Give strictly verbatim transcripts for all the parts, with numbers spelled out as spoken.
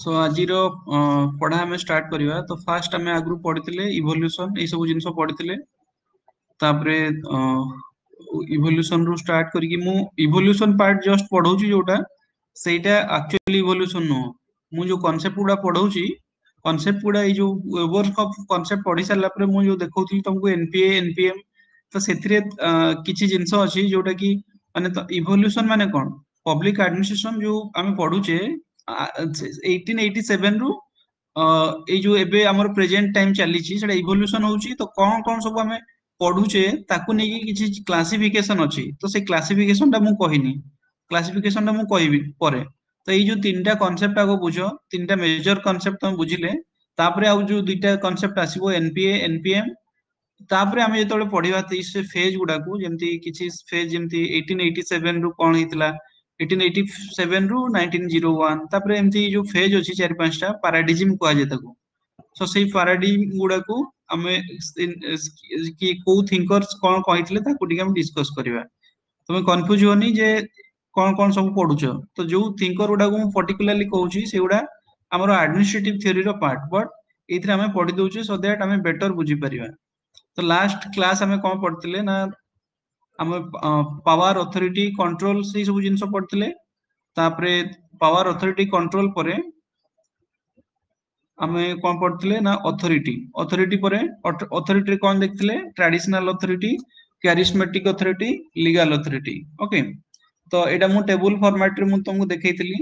Show ଆଜିର ଅ, ପଢା ଆମେ ଷ୍ଟାର୍ଟ କରିବା। ତ ଫାଷ୍ଟ ଆମେ ଆଗରୁ ପଢିଥିଲେ ଇଭଲ୍ୟୁସନ, ଏଇ ସବୁ ଜିନିଷ ପଢିଥିଲେ। ତାପରେ ଇଭଲ୍ୟୁସନ ରୁ ଷ୍ଟାର୍ଟ କରିକି ମୁଁ ଇଭଲ୍ୟୁସନ ପାର୍ଟ ଜଷ୍ଟ ପଢଉଛି, ଯୋଉଟା ସେଇଟା ଆକ୍ଚୁଆଲି ଇଭଲ୍ୟୁସନ ନୁହଁ। ମୁଁ ଯୋଉ କନସେପ୍ଟ ଗୁଡା ପଢଉଛି, କନସେପ୍ଟ ଗୁଡା ଏଇ ଯୋଉ ୱେବର କନସେପ୍ଟ ପଢି ସାରିଲା ପରେ ମୁଁ ଯୋଉ ଦେଖଉଥିଲି ତମକୁ ଏନପିଏ ଏନପିଏମ, ତ ସେଥିରେ ଅ, କିଛି ଜିନିଷ ଅଛି ଯୋଉଟା କି ମାନେ ଇଭଲ୍ୟୁସନ ମାନେ କଣ, ପବ୍ଲିକ ଆଡମିନିଷ୍ଟ୍ରେସନ ଯୋଉ ଆମେ ପଢୁଛେ ଏଇଟିନ ଏଇଟି ସେଭେନ ରୁ ଅ, ଏଇ ଯୋଉ ଏବେ ଆମର ପ୍ରେଜେଣ୍ଟ ଟାଇମ ଚାଲିଛି ସେଟା ଇଭଲ୍ୟୁସନ ହଉଛି। ତ କଣ କଣ ସବୁ ଆମେ ପଢୁଛେ ତାକୁ ନେଇକି କିଛି କ୍ଲାସିଫିକେସନ ଅଛି। ତ ସେ କ୍ଲାସିଫିକେସନ ଟା ମୁଁ କହିନି, କ୍ଲାସିଫିକେସନ ଟା ମୁଁ କହିବି ପରେ। ତ ଏଇ ଯୋଉ ତିନିଟା କନସେପ୍ଟ ଆଗ ବୁଝ, ତିନିଟା ମେଜର କନସେପ୍ଟ ତମେ ବୁଝିଲେ ତାପରେ ଆଉ ଯୋଉ ଦିଟା କନସେପ୍ଟ ଆସିବ ଏନପିଏ ଏନପିଏମ। ତାପରେ ଆମେ ଯେତେବେଳେ ପଢିବା ସେ ଫେଜ ଗୁଡାକୁ, ଯେମିତି କିଛି ଫେଜ ଯେମିତି ଏଇଟିନ ଏଇଟି ସେଭେନ ରୁ କଣ ହେଇଥିଲା, ଏଇଟିନ ଏଇଟି ସେଭେନ ରୁ ନାଇନଟିନ ଜିରୋ ୱାନ, ତାପରେ ଏମିତି ଯୋଉ ଫେଜ ଅଛି ଚାରି ପାଞ୍ଚଟା ପାରାଡିଜିମ କୁହାଯାଏ ତାକୁ। ସୋ ସେଇ ପାରାଡିଜିମ ଗୁଡାକୁ ଆମେ କି କୋଉ ଥିଙ୍କର୍ସ କଣ କହିଥିଲେ ତାକୁ ଟିକେ ଆମେ ଡିସ୍କସ କରିବା। ତମେ କନଫ୍ୟୁଜ ହୁଅନି ଯେ କଣ କଣ ସବୁ ପଢୁଛ। ତ ଯୋଉ ଥିଙ୍କର ଗୁଡାକୁ ମୁଁ ପର୍ଟିକୁଲାରଲି କହୁଛି ସେଗୁଡା ଆମର ଆଡମିନିଷ୍ଟ୍ରେଟିଭ ଥିଓରିର ପାର୍ଟ, ବଟ ଏଇଥିରେ ଆମେ ପଢି ଦଉଛେ ସୋ that ଆମେ ବେଟର ବୁଝିପାରିବା। ତ ଲାଷ୍ଟ କ୍ଲାସ ଆମେ କଣ ପଢିଥିଲେ ନା ଆମେ ପାୱାର ଅଥରିଟି କଣ୍ଟ୍ରୋଲ ସେଇ ସବୁ ଜିନିଷ ପଢିଥିଲେ। ତାପରେ ପାୱାର ଅଥରିଟି କଣ୍ଟ୍ରୋଲ ପରେ ଆମେ କଣ ପଢିଥିଲେ ନା ଅଥରିଟି, ଅଥରିଟି ପରେ ଅଥରିଟି କଣ ଦେଖିଥିଲେ, traditional authority, charismatic authority, legal authority. Okay, ତ ଏଇଟା ମୁଁ ଟେବୁଲ ଫର୍ମାଟ ରେ ମୁଁ ତମକୁ ଦେଖେଇଥିଲି।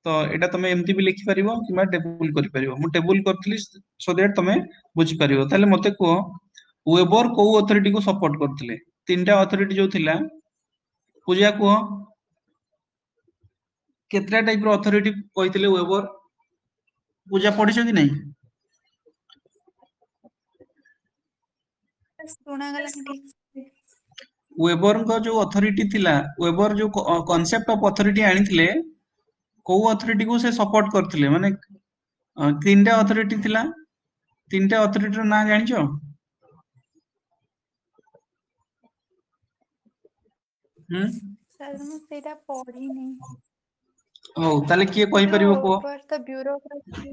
ତ ଏଇଟା ତମେ ଏମିତି ବି ଲେଖିପାରିବ କିମ୍ବା ଟେବୁଲ କରିପାରିବ। ମୁଁ ଟେବୁଲ କରିଥିଲି ସୋ that ତମେ ବୁଝିପାରିବ। ତାହେଲେ ମତେ କୁହ ୱେବର କୋଉ ଅଥରିଟି କୁ ସପୋର୍ଟ କରୁଥିଲେ? ତିନିଟା ଅଥରିଟି ଯୋଉ ଥିଲା, ପୂଜା କୁହ କେତେଟା ଟାଇପ ର ଅଥରିଟି କହିଥିଲେ ୱେବର? ପୂଜା ପଢିଛ କି ନାଇଁ? ଶୁଣାଗଲାନି ଠିକ ସେ। ୱେବରଙ୍କ ଯୋଉ ଅଥରିଟି ଥିଲା, ୱେବର ଯୋଉ କନସେପ୍ଟ ଅଫ ଅଥରିଟି ଆଣିଥିଲେ, କୋଉ ଅଥରିଟି କୁ ସେ ସପୋର୍ଟ କରିଥିଲେ? ମାନେ ଅ, ତିନିଟା ଅଥରିଟି ଥିଲା, ତିନିଟା ଅଥରିଟିର ନାଁ ଜାଣିଛ? ହୁଁ, ସାର୍ ମୁଁ ସେଇଟା ପଢିନି। ହଉ ତାହେଲେ କିଏ କହିପାରିବ କୁହ? ୱେବର ତ ବ୍ୟୁରୋକ୍ରାସି।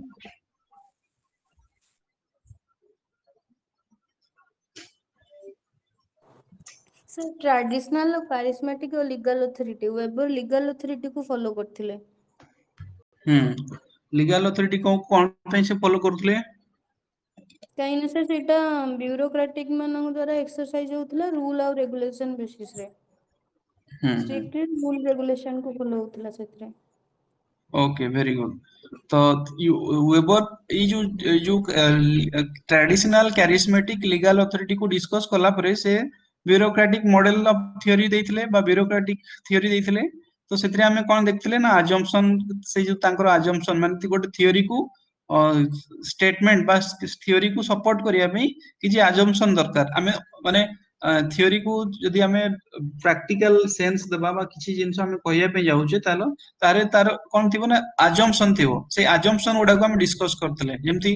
ସାର୍ ଟ୍ରାଡିସନାଲ, କାରିସ୍ମାଟିକ ଓ legal authority. Weber legal authority କୁ ଫଲୋ କରିଥିଲେ। ହୁଁ, ଲିଗାଲ ଅଥରିଟି କଣ କଣ ପାଇଁ ସେ ଫଲୋ କରୁଥିଲେ? କାହିଁକି ନା ସାର୍ ସେଇଟା ବ୍ୟୁରୋକ୍ରାଟିକ ମାନଙ୍କ ଦ୍ଵାରା ଏକ୍ସରସାଇଜ ହଉଥିଲା ରୁଲ ଆଉ ରେଗୁଲେସନ ବେସିସ ରେ। ହୁଁ ହୁଁ ଷ୍ଟ୍ରିକ୍ଟଲି ରୁଲ ରେଗୁଲେସନ କୁ ଫଲୋ ହଉଥିଲା ସେଥିରେ। Okay, very good. ତ ୱେବର ଏଇ ଯୋଉ ଏଇ ଯୋଉ ଟ୍ରାଡିସନାଲ କ୍ୟାରିସ୍ମାଟିକ ଲିଗାଲ ଅଥରିଟି କୁ ଡିସ୍କସ କଲା ପରେ ସେ ବ୍ୟୁରୋକ୍ରାଟିକ ମଡେଲ ଅଫ ଥିଓରି ଦେଇଥିଲେ ବା ବ୍ୟୁରୋକ୍ରାଟିକ ଥିଓରି ଦେଇଥିଲେ। ତ ସେଥିରେ ଆମେ କଣ ଦେଖିଥିଲେ ନା ଆଜମ୍ପସନ, ସେଇ ଯୋଉ ତାଙ୍କର ଆଜମ୍ପସନ ମାନେ ଗୋଟେ ଥିଓରି କୁ ଷ୍ଟେଟମେଣ୍ଟ ବା ଥିଓରି କୁ ସପୋର୍ଟ କରିବା ପାଇଁ କିଛି ଆଜମ୍ପସନ ଦରକାର। ଆମେ ମାନେ ଥିଓରି କୁ ଯଦି ଆମେ ପ୍ରାକ୍ଟିକାଲ ସେନ୍ସ ଦେବା ବା କିଛି ଜିନିଷ ଆମେ କହିବା ପାଇଁ ଯାଉଛେ, ତାହେଲେ ତାରେ ତାର କଣ ଥିବ ନା ଆଜମ୍ପସନ ଥିବ। ସେଇ ଆଜମ୍ପସନ ଗୁଡାକୁ ଆମେ ଡିସ୍କସ କରିଥିଲେ, ଯେମିତି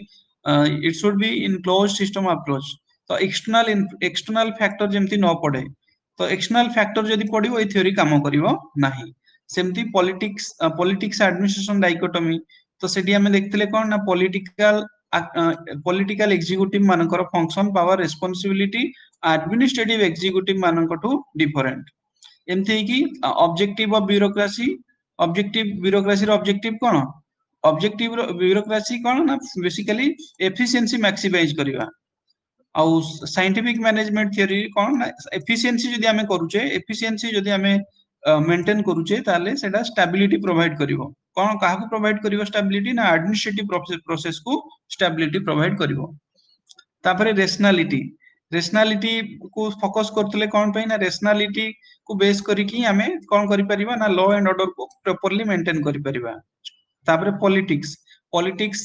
it should be in close system approach. ତ ଏକ୍ସଟର୍ନାଲ ଏକ୍ସଟର୍ନାଲ ଫ୍ୟାକ୍ଟର ଯେମିତି ନ ପଡେ, ତ ଏକ୍ସଟର୍ନାଲ ଫ୍ୟାକ୍ଟର ଯଦି ପଡିବ ଏଇ ଥିଓରି କାମ କରିବ ନାହିଁ। ସେମିତି ପଲିଟିକ୍ସ ପଲିଟିକ୍ସ ଆଡମିନିଷ୍ଟ୍ରେସନ ଡାଇକୋଟମି, ତ ସେଠି ଆମେ ଦେଖିଥିଲେ କଣ ନା ପଲିଟିକାଲ ପଲିଟିକାଲ ଏକ୍ଜିକ୍ୟୁଟିଭ ମାନଙ୍କର function, power, responsibility administrative executive ମାନଙ୍କଠୁ ଡିଫରେଣ୍ଟ। ଏମିତି ହେଇକି ଅବଜେକ୍ଟିଭ ଅଫ ବ୍ୟୁରୋକ୍ରାସି, ଅବଜେକ୍ଟିଭ ବ୍ୟୁରୋକ୍ରାସିର ଅବଜେକ୍ଟିଭ କଣ? ଅବଜେକ୍ଟିଭ ବ୍ୟୁରୋକ୍ରାସି କଣ ନା ବେସିକାଲି ଏଫିସିଏନ୍ସି ମ୍ୟାକ୍ସିମାଇଜ କରିବା। ଆଉ ସାଇଣ୍ଟିଫିକ ମ୍ୟାନେଜମେଣ୍ଟ ଥିଓରି କଣ ନା ଏଫିସିଏନ୍ସି ଯଦି ଆମେ କରୁଛେ, ଏଫିସିଏନ୍ସି ଯଦି ଆମେ ମେଣ୍ଟେନ କରୁଛେ, ତାହେଲେ ସେଟା ଷ୍ଟାବିଲିଟି ପ୍ରୋଭାଇଡ କରିବ। କଣ କାହାକୁ ପ୍ରୋଭାଇଡ କରିବ ଷ୍ଟାବିଲିଟି ନା ଆଡମିନିଷ୍ଟ୍ରେଟିଭ ପ୍ରୋସେସ କୁ ଷ୍ଟାବିଲିଟି ପ୍ରୋଭାଇଡ କରିବ। ତାପରେ ରେସନାଲିଟି, ରେସନାଲିଟି କୁ ଫୋକସ କରୁଥିଲେ କଣ ପାଇଁ ନା ରେସନାଲିଟି କୁ ବେସ କରିକି ଆମେ କଣ କରିପାରିବା ନା ଲ ଆଣ୍ଡ ଅର୍ଡର କୁ ପ୍ରପରଲି ମେଣ୍ଟେନ କରିପାରିବା। ତାପରେ ପଲିଟିକ୍ସ, ପଲିଟିକ୍ସ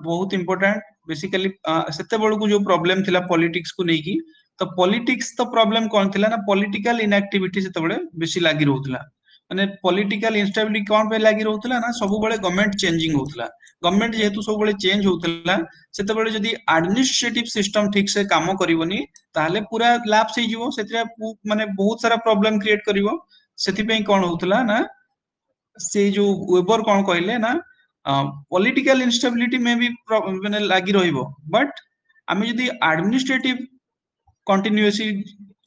ବହୁତ ଇମ୍ପୋର୍ଟାଣ୍ଟ। ବେସିକାଲି ସେତେବେଳକୁ ଯୋଉ ପ୍ରୋବ୍ଲେମ ଥିଲା ପଲିଟିକ୍ସ କୁ ନେଇକି, ତ ପଲିଟିକ୍ସ ତ ପ୍ରୋବ୍ଲେମ କଣ ଥିଲା ନା ପଲିଟିକାଲ ଇନଆକ୍ଟିଭିଟି ସେତେବେଳେ ବେଶୀ ଲାଗି ରହୁଥିଲା। ମାନେ ପଲିଟିକାଲ ଇନଷ୍ଟାବିଲିଟି କଣ ପାଇଁ ଲାଗି ରହୁଥିଲା ନା ସବୁବେଳେ ଗଭର୍ଣ୍ଣମେଣ୍ଟ ଚେଞ୍ଜିଂ ହଉଥିଲା। ଗଭର୍ଣ୍ଣମେଣ୍ଟ ଯେହେତୁ ସବୁବେଳେ ଚେଞ୍ଜ ହଉଥିଲା, ସେତେବେଳେ ଯଦି ଆଡମିନିଷ୍ଟ୍ରେଟିଭ ସିଷ୍ଟମ ଠିକ ସେ କାମ କରିବନି ତାହେଲେ ପୁରା ଲାପ୍ସ ହେଇଯିବ, ସେଥିରେ ମାନେ ବହୁତ ସାରା ପ୍ରୋବ୍ଲେମ କ୍ରିଏଟ କରିବ। ସେଥିପାଇଁ କଣ ହଉଥିଲା ନା ସେ ଯୋଉ ୱେବର କଣ କହିଲେ ନା ପଲିଟିକାଲ ଇନଷ୍ଟାବିଲିଟି ମେ ବି ମାନେ ଲାଗି ରହିବ ବଟ୍ ଆମେ ଯଦି ଆଡମିନିଷ୍ଟ୍ରେଟିଭ କଣ୍ଟିନ୍ୟୁଅସି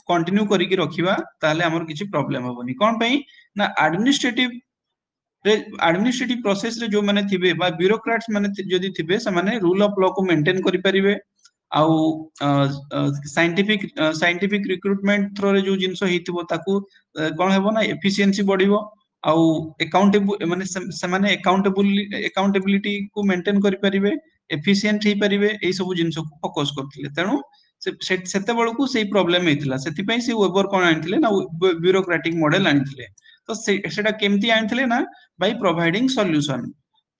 କଣ୍ଟିନ୍ୟୁ କରିକି ରଖିବା ତାହେଲେ ଆମର କିଛି ପ୍ରୋବ୍ଲେମ ହବନି କଣ ପାଇଁ ନା ଆଡମିନିଷ୍ଟ୍ରେଟିଭ ରେ ଆଡମିନିଷ୍ଟ୍ରେଟିଭ ପ୍ରୋସେସ ରେ ଯୋଉମାନେ ଥିବେ ବା ବ୍ୟୁରୋକ୍ରାଟ୍ସ ମାନେ ଯଦି ଥିବେ ସେମାନେ ରୁଲ ଅଫ ଲ କୁ ମେଣ୍ଟେନ କରିପାରିବେ ଆଉ ସାଇଣ୍ଟିଫିକ ସାଇଣ୍ଟିଫିକ ରିକ୍ରୁଟମେଣ୍ଟ ଥ୍ରୋରେ ଯୋଉ ଜିନିଷ ହେଇଥିବ ତାକୁ କଣ ହେବ ନା ଏଫିସିଏନ୍ସି ବଢିବ ଆଉ ଏକାଉଣ୍ଟେବୁଲ ମାନେ ସେମାନେ ଏକାଉଣ୍ଟେବୁଲ ଏକାଉଣ୍ଟେବିଲିଟି କୁ ମେଣ୍ଟେନ କରିପାରିବେ ଏଫିସିଏଣ୍ଟ ହେଇପାରିବେ ଏଇ ସବୁ ଜିନିଷକୁ ଫୋକସ କରୁଥିଲେ ତେଣୁ ସେତେବେଳକୁ ସେଇ ପ୍ରୋବ୍ଲେମ ହେଇଥିଲା ସେଥିପାଇଁ ସେ ୱେବର କଣ ଆଣିଥିଲେ ନା ବ୍ୟୁରୋକ୍ରାଟିକ ମଡେଲ ଆଣିଥିଲେ ତ ସେଟା କେମିତି ଆଣିଥିଲେ ନା ବାଇ ପ୍ରୋଭାଇଡିଂ ସଲ୍ୟୁସନ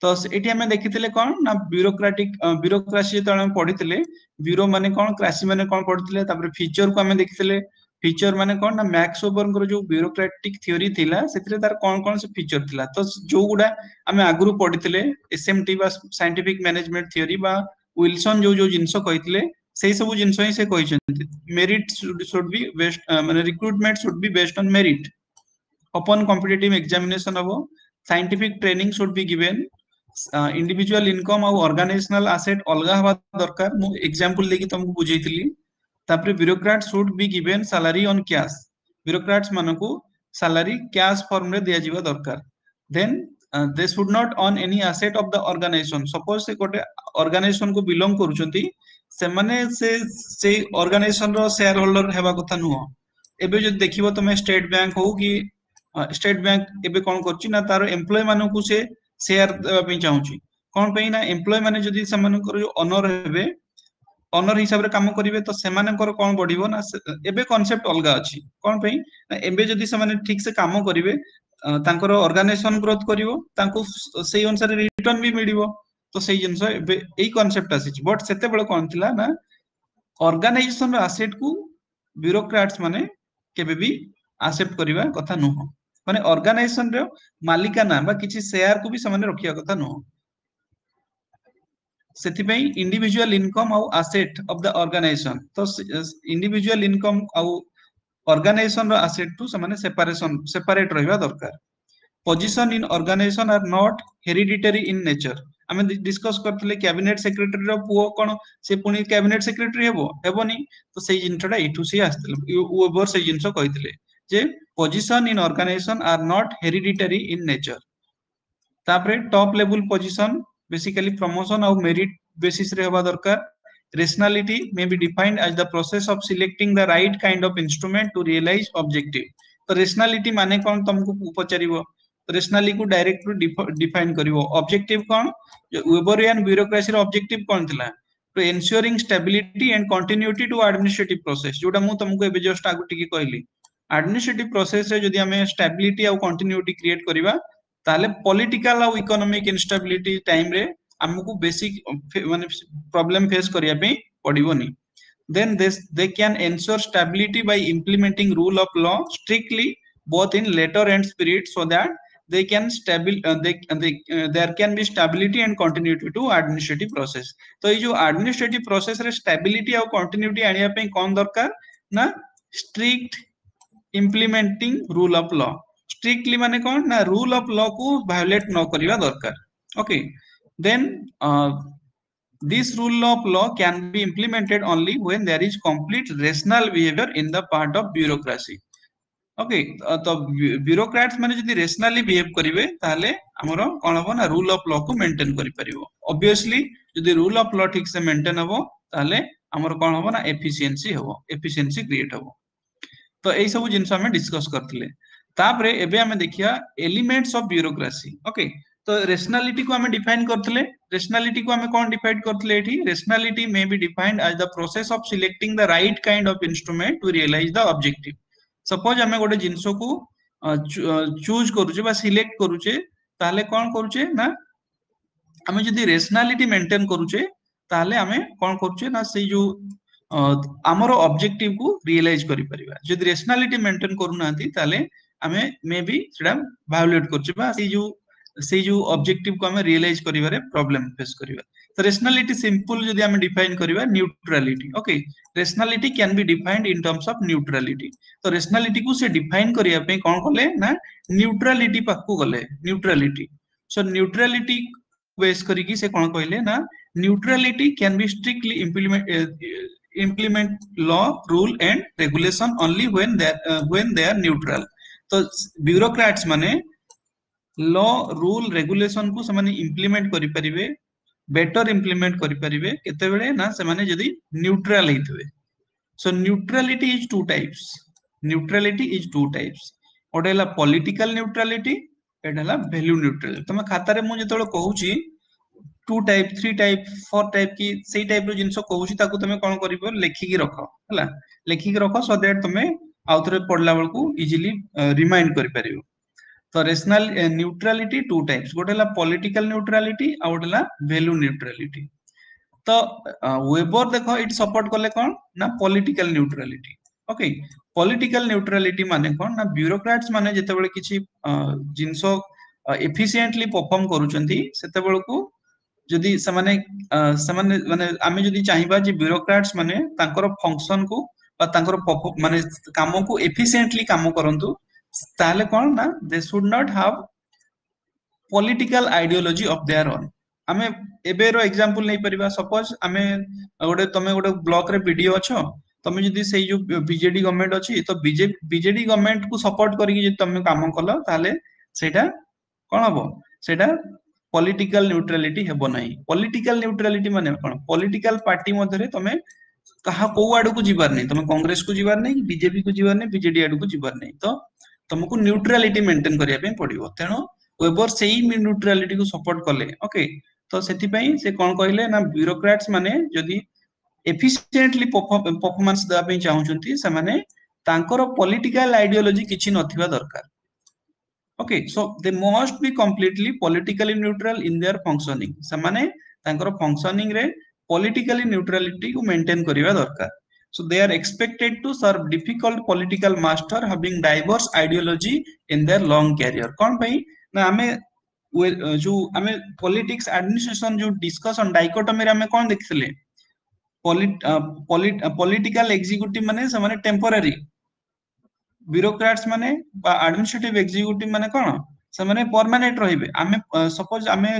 ତ ଏଠି ଆମେ ଦେଖିଥିଲେ କଣ ନା ବ୍ୟୁରୋକ୍ରାଟିକ ବ୍ୟୁରୋକ୍ରାସି ଯେତେବେଳେ ଆମେ ପଢିଥିଲେ ବ୍ୟୁରୋ ମାନେ କଣ କ୍ରାସି ମାନେ କଣ ପଢିଥିଲେ ତାପରେ ଫିଚର କୁ ଆମେ ଦେଖିଥିଲେ ଫିଚର ମାନେ କଣ ନା ମ୍ୟାକ୍ସ ୱେବରଙ୍କର ଯୋଉ ବ୍ୟୁରୋକ୍ରାଟିକ ଥିଓରି ଥିଲା ସେଥିରେ ତାର କଣ କଣ ସେ ଫିଚର ଥିଲା ତ ଯୋଉଗୁଡା ଆମେ ଆଗରୁ ପଢିଥିଲେ ଏସଏମଟି ବା ସାଇଣ୍ଟିଫିକ ମ୍ୟାନେଜମେଣ୍ଟ ଥିଓରି ବା ୱିଲସନ ଯୋଉ ଯୋଉ ଜିନିଷ କହିଥିଲେ ସେଇ ସବୁ ଜିନିଷ ହିଁ ସେ କହିଛନ୍ତି ମେରିଟ should be based ମାନେ recruitment should be based on merit open competitive examination ହବ scientific training should be given individual income ଆଉ ଅର୍ଗାନାଇଜେସନାଲ ଆସେଟ ଅଲଗା ହବା ଦରକାର ମୁଁ ଏକ୍ସାମ୍ପଲ ଦେଇକି ତମକୁ ବୁଝେଇଥିଲି ତାପରେ bureaucrat should be given salary on cash bureaucrats ମାନଙ୍କୁ ସାଲାରୀ କ୍ୟାଶ ଫର୍ମରେ ଦିଆଯିବା ଦରକାର then they should not own any asset of the organization suppose ସେ ଗୋଟେ ଅର୍ଗାନାଇଜେସନ କୁ ବିଲଙ୍ଗ କରୁଛନ୍ତି ସେମାନେ ସେ ସେଇ ଅର୍ଗାନାଇଜେସନ ର ସେୟାର ହୋଲ୍ଡର ହେବା କଥା ନୁହଁ ଏବେ ଯଦି ଦେଖିବ ତମେ ଷ୍ଟେଟ ବ୍ୟାଙ୍କ ହଉ କି ଷ୍ଟେଟ ବ୍ୟାଙ୍କ ଏବେ କଣ କରୁଛି ନା ତାର ଏମ୍ପ୍ଲୟ ମାନଙ୍କୁ ସେ ସେୟାର ଦେବା ପାଇଁ ଚାହୁଁଛି କଣ ପାଇଁ ନା ଏମ୍ପ୍ଲୟ ମାନେ ଯଦି ସେମାନଙ୍କର ଯୋଉ ଓନର ହେବେ ଓନର ହିସାବରେ କାମ କରିବେ ତ ସେମାନଙ୍କର କଣ ବଢିବ ନା ଏବେ କନସେପ୍ଟ ଅଲଗା ଅଛି କଣ ପାଇଁ ନା ଏବେ ଯଦି ସେମାନେ ଠିକ ସେ କାମ କରିବେ ତାଙ୍କର ଅର୍ଗାନାଇଜେସନ ଗ୍ରୋଥ କରିବ ତାଙ୍କୁ ସେଇ ଅନୁସାରେ ରିଟର୍ନ ବି ମିଳିବ ତ ସେଇ ଜିନିଷ ଏବେ ଏଇ କନସେପ୍ଟ ଆସିଛି ବଟ୍ ସେତେବେଳେ କଣ ଥିଲା ନା ଅର୍ଗାନାଇଜେସନ ର ଆସେଟ କୁ ବ୍ୟୁରୋକ୍ରାଟ୍ସ ମାନେ କେବେ ବି ଆକ୍ସେପ୍ଟ କରିବା କଥା ନୁହଁ ମାନେ ଅର୍ଗାନାଇଜେସନ ର ମାଲିକାନା ବା କିଛି ସେୟାର କୁ ବି ସେମାନେ ରଖିବା କଥା ନୁହଁ ସେଥିପାଇଁ ଇଣ୍ଡିଭିଜୁଆଲ ଇନକମ ଆଉ ଆସେଟ ଅଫ the organisation ତ ଇଣ୍ଡିଭିଜୁଆଲ ଇନକମ ଆଉ ଅର୍ଗାନାଇଜେସନ ର ଆସେଟ ଠୁ ସେମାନେ ସେପାରେସନ ସେପାରେଟ ରହିବା ଦରକାର position in organization are not hereditary in nature ଆମେ ଡିସ୍କସ କରିଥିଲେ କ୍ୟାବିନେଟ ସେକ୍ରେଟାରୀର ପୁଅ କଣ ସେ ପୁଣି କ୍ୟାବିନେଟ ସେକ୍ରେଟାରୀ ହେବ ହେବନି ତ ସେଇ ଜିନିଷଟା ଏଇଠୁ ସିଏ ଆସିଥିଲେ ୱେବର ସେଇ ଜିନିଷ କହିଥିଲେ ଯେ position in organization are not hereditary in nature ତାପରେ top level position basically promotion ଆଉ ମେରିଟ ବେସିସ ରେ ହେବା ଦରକାର rationality may be defined as the process of selecting the right kind of instrument to realize objective ତ rationality ମାନେ କଣ ତମକୁ ପଚାରିବ rationality କୁ ଡାଇରେକ୍ଟ ଡିଫାଇନ କରିବ ଅବଜେକ୍ଟିଭ କଣ ୱେବରିଆନ ବ୍ୟୁରୋକ୍ରାସିର ଅବଜେକ୍ଟିଭ କଣ ଥିଲା to ensuring stability and continuity to administrative process ଯୋଉଟା ମୁଁ ତମକୁ ଏବେ ଜଷ୍ଟ ଆଗରୁ ଟିକେ କହିଲି ଆଡମିନିଷ୍ଟ୍ରେଟିଭ ପ୍ରୋସେସ ରେ ଯଦି ଆମେ ଷ୍ଟାବିଲିଟି ଆଉ କଣ୍ଟିନ୍ୟୁଟି କ୍ରିଏଟ କରିବା ତାହେଲେ ପଲିଟିକାଲ ଆଉ ଇକୋନୋମିକ ଇନଷ୍ଟାବିଲିଟି ଟାଇମ ରେ ଆମକୁ ବେସିକ ମାନେ ପ୍ରୋବ୍ଲେମ ଫେସ୍ କରିବା ପାଇଁ ପଡିବନି then this they can ensure stability by implementing rule of law strictly both in letter and spirit so that they can stabil uh, they, they uh, there can be stability and continuity to administrative process ତ ଏଇ ଯୋଉ administrative process ରେ stability ଆଉ continuity ଆଣିବା ପାଇଁ କଣ ଦରକାର ନା strict implementing rule of law strictly ମାନେ କଣ ନା rule of law କୁ violate ନ କରିବା ଦରକାର okay then uh, this rule of law can be implemented only when there is complete rational behavior in the part of bureaucracy okay ତ bureaucrats ମାନେ ଯଦି ରେସନାଲି ବିହେଭ କରିବେ ତାହେଲେ ଆମର କଣ ହବ ନା ରୁଲ ଅଫ ଲ କୁ ମେଣ୍ଟେନ କରିପାରିବ ଅବଭିୟସଲି ଯଦି ରୁଲ ଅଫ ଲ ଠିକ ସେ ମେଣ୍ଟେନ ହବ ତାହେଲେ ଆମର କଣ ହବ ନା ଏଫିସିଏନ୍ସି ହବ ଏଫିସିଏନ୍ସି କ୍ରିଏଟ ହବ ତ ଏଇ ସବୁ ଜିନିଷ ଆମେ ଡିସ୍କସ କରିଥିଲେ ତାପରେ ଏବେ ଆମେ ଦେଖିବା ଏଲିମେଣ୍ଟସ ଅଫ ବ୍ୟୁରୋକ୍ରାସି ଓକେ ତ ରେସନାଲିଟି କୁ ଆମେ ଡିଫାଇନ କରିଥିଲେ ରେସନାଲିଟି କୁ ଆମେ କଣ ଡିଫାଇନ କରିଥିଲେ ଏଠି rationality may be defined as the process of selecting the right kind of instrument to realize the objective suppose ଆମେ ଗୋଟେ ଜିନିଷକୁ ଚୁଜ କରୁଛେ ବା ସିଲେକ୍ଟ କରୁଛେ ତାହେଲେ କଣ କରୁଛେ ନା ଆମେ ଯଦି ରେସନାଲିଟି ମେଣ୍ଟେନ କରୁଛେ ତାହେଲେ ଆମେ କଣ କରୁଛେ ନା ସେଇ ଯୋଉ ଆମର ଅବଜେକ୍ଟିଭ କୁ ରିଏଲାଇଜ କରିପାରିବା ଯଦି ରେସନାଲିଟି ମେଣ୍ଟେନ କରୁନାହାନ୍ତି ତାହେଲେ ଆମେ ମେ ବି ସେଟା ଭାয়োଲେଟ କରୁଛେ ବା ସେଇ ଯୋଉ ସେଇ ଯୋଉ ଅବଜେକ୍ଟିଭ କୁ ଆମେ ରିଏଲାଇଜ କରିବାରେ ପ୍ରୋବ୍ଲେମ ଫେସ୍ କରିବା ତ ରେସନାଲିଟି ସିମ୍ପଲ ଯଦି ଆମେ ଡିଫାଇନ କରିବା neutrality okay rationality can be defined in terms of neutrality ତ ରେସନାଲିଟି କୁ ସେ ଡିଫାଇନ କରିବା ପାଇଁ କଣ କଲେ ନା ନ୍ୟୁଟ୍ରାଲିଟି ପାଖକୁ ଗଲେ ନ୍ୟୁଟ୍ରାଲିଟି ସୋ ନ୍ୟୁଟ୍ରାଲିଟି ବେସ୍ କରିକି ସେ କଣ କହିଲେ ନା neutrality can be strictly implement implement law rule and regulation only when they are, uh, when they are neutral। ତ ବ୍ୟୁରୋକ୍ରାଟ୍ସ ମାନେ ଲ ରୁଲ ରେଗୁଲେସନ କୁ ସେମାନେ ଇମ୍ପ୍ଲିମେଣ୍ଟ କରିପାରିବେ, ବେଟର ଇମ୍ପ୍ଲିମେଣ୍ଟ କରିପାରିବେ କେତେବେଳେ ନା ସେମାନେ ଯଦି ନ୍ୟୁଟ୍ରାଲ ହେଇଥିବେ। So neutrality is two types। Neutrality is two types। ଗୋଟେ ହେଲା ପଲିଟିକାଲ ନ୍ୟୁଟ୍ରାଲିଟି, ଏଇଟା ହେଲା ଭ୍ୟାଲ୍ୟୁ ନ୍ୟୁଟ୍ରାଲିଟି। ତମେ ଖାତାରେ ମୁଁ ଯେତେବେଳେ କହୁଛି two type, three type, four type କି ସେଇ ଟାଇପ ର ଜିନିଷ କହୁଛି, ତାକୁ ତମେ କଣ କରିବ, ଲେଖିକି ରଖ, ହେଲା? ଲେଖିକି ରଖ ସୋ that ତମେ ଆଉଥରେ ପଢିଲା ବେଳକୁ ଇଜିଲି ରିମାଇଣ୍ଡ କରିପାରିବ। ତ ରେସନାଲ ନ୍ୟୁଟ୍ରାଲିଟି ଟୁ ଟାଇପ୍ସ, ଗୋଟେ ହେଲା ପଲିଟିକାଲ ନ୍ୟୁଟ୍ରାଲିଟି ଆଉ ଗୋଟେ ହେଲା ଭ୍ୟାଲ୍ୟୁ ନ୍ୟୁଟ୍ରାଲିଟି। ତ ୱେବର ଦେଖ ଏଇଠି ସପୋର୍ଟ କଲେ କଣ ନା political neutrality. Okay, political neutrality ମାନେ କଣ ନା ବ୍ୟୁରୋକ୍ରାଟ୍ସ ମାନେ ଯେତେବେଳେ କିଛି ଜିନିଷ ଏଫିସିଏଣ୍ଟଲି ପରଫର୍ମ କରୁଛନ୍ତି, ସେତେବେଳକୁ ଯଦି ସେମାନେ ସେମାନେ ମାନେ ଆମେ ଯଦି ଚାହିଁବା ଯେ ବ୍ୟୁରୋକ୍ରାଟ୍ସ ମାନେ ତାଙ୍କର ଫଙ୍କସନ କୁ ବା ତାଙ୍କର ମାନେ କାମକୁ ଏଫିସିଏଣ୍ଟଲି କାମ କରନ୍ତୁ, ତାହେଲେ କଣ ନା they should not have political ideology of their own। ଆମେ ଏବେର ଏକ୍ସାମ୍ପଲ ନେଇପାରିବା। ସପୋଜ ଆମେ ଗୋଟେ ତମେ ଗୋଟେ ବ୍ଲକରେ ବିଡିଓ ଅଛ। ତମେ ଯଦି ସେଇ ଯୋଉ ବିଜେଡି ଗଭର୍ଣମେଣ୍ଟ ଅଛି, ତ ବିଜେଡି ଗଭର୍ଣମେଣ୍ଟ କୁ ସପୋର୍ଟ କରିକି ଯଦି ତମେ କାମ କଲ, ତାହେଲେ ସେଇଟା କଣ ହବ? ସେଇଟା ପଲିଟିକାଲ ନ୍ୟୁଟ୍ରାଲିଟି ହେବ ନାହିଁ। ପଲିଟିକାଲ ନ୍ୟୁଟ୍ରାଲିଟି ମାନେ କଣ? ପଲିଟିକାଲ ପାର୍ଟି ମଧ୍ୟରେ ତମେ କାହା କୋଉ ଆଡକୁ ଯିବାର ନାହିଁ। ତମେ କଂଗ୍ରେସ କୁ ଯିବାର ନାହିଁ, ବିଜେପି କୁ ଯିବାର ନାହିଁ, ବିଜେଡି ଆଡକୁ ଯିବାର ନାହିଁ। ତ ତମକୁ ନ୍ୟୁଟ୍ରାଲିଟି ମେଣ୍ଟେନ କରିବା ପାଇଁ ପଡିବ। ତେଣୁ ୱେବର ସେଇ ନ୍ୟୁଟ୍ରାଲିଟି କୁ ସପୋର୍ଟ କଲେ। ଓକେ, ତ ସେଥିପାଇଁ ସେ କଣ କହିଲେ ନା ବ୍ୟୁରୋକ୍ରାଟ୍ସ ମାନେ ଯଦି ଏଫିସିଏଣ୍ଟଲି ପରଫର୍ମାନ୍ସ ଦେବା ପାଇଁ ଚାହୁଁଛନ୍ତି, ସେମାନେ ତାଙ୍କର ପଲିଟିକାଲ ଆଇଡିଓଲୋଜି କିଛି ନଥିବା ଦରକାର। Okay, so they must be completely politically neutral in their functioning। ସେମାନେ ତାଙ୍କର ଫଙ୍କସନିଂ ରେ ପଲିଟିକାଲି ନ୍ୟୁଟ୍ରାଲିଟି କୁ ମେଣ୍ଟେନ କରିବା ଦରକାର। So they are expected to serve difficult political master having diverse ideology in their long career। କଣ ପାଇଁ ନା ଆମେ ଯୋଉ ଆମେ ପଲିଟିକ୍ସ ଆଡମିନିଷ୍ଟ୍ରେସନ ଯୋଉ ଡିସ୍କସନ ଡାଇକୋଟୋମିରେ ଆମେ କଣ ଦେଖିଥିଲେ? ପଲିଟିକାଲ ଏକ୍ଜିକ୍ୟୁଟିଭ ମାନେ ସେମାନେ ଟେମ୍ପୋରାରୀ, ବ୍ୟୁରୋକ୍ରାଟ୍ସ ମାନେ ବା ଆଡମିନିଷ୍ଟ୍ରେଟିଭ ଏକ୍ଜିକ୍ୟୁଟିଭ ମାନେ କଣ, ସେମାନେ ପରମାନେଣ୍ଟ ରହିବେ। ଆମେ ସପୋଜ ଆମେ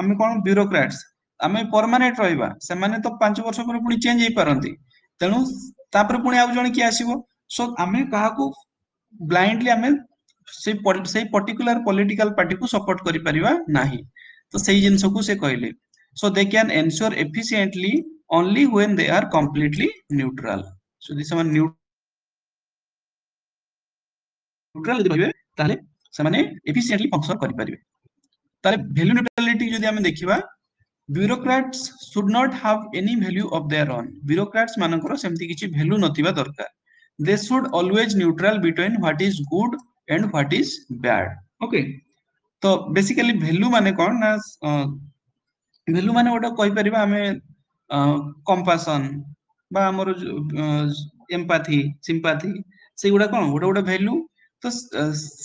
ଆମେ କଣ ବ୍ୟୁରୋକ୍ରାଟ୍ସ, ଆମେ ପରମାନେଣ୍ଟ ରହିବା। ସେମାନେ ତ ପାଞ୍ଚ ବର୍ଷ ପରେ ପୁଣି ଚେଞ୍ଜ ହେଇପାରନ୍ତି। ତେଣୁ ତାପରେ ପୁଣି ଆଉ ଜଣେ କିଏ ଆସିବ। ସୋ ଆମେ କାହାକୁ ବ୍ଲାଇଣ୍ଡଲି ଆମେ ସେଇ ସେଇ ପର୍ଟିକୁଲାର ପଲିଟିକାଲ ପାର୍ଟିକୁ ସପୋର୍ଟ କରିପାରିବା ନାହିଁ। ତ ସେଇ ଜିନିଷକୁ ସେ କହିଲେ, so they can ensure efficiently only when they are completely neutral। ଯଦି ସେମାନେ ନ୍ୟୁଟ୍ରାଲ ଯଦି ରହିବେ, ତାହେଲେ ସେମାନେ ଏଫିସିଏଣ୍ଟଲି ଫଙ୍କସନ କରିପାରିବେ। ତାହେଲେ ଭ୍ୟାଲ୍ୟୁ ନ୍ୟୁଟ୍ରାଲିଟି ଯଦି ଆମେ ଦେଖିବା, bureaucrats should not have any value of their own। Bureaucrats ମାନଙ୍କର ସେମିତି କିଛି ଭ୍ୟାଲ୍ୟୁ ନଥିବା ଦରକାର। They should always neutral between what is good and what is bad। Okay, ତ ବେସିକାଲି ଭ୍ୟାଲ୍ୟୁ ମାନେ କଣ ନା ଭ୍ୟାଲ୍ୟୁ ମାନେ ଗୋଟେ କହିପାରିବା ଆମେ କମ୍ପାସନ ବା ଆମର ଏମ୍ପାଥି, ସିମ୍ପାଥି, ସେଇଗୁଡା କଣ ଗୋଟେ ଗୋଟେ ଭ୍ୟାଲ୍ୟୁ। ତ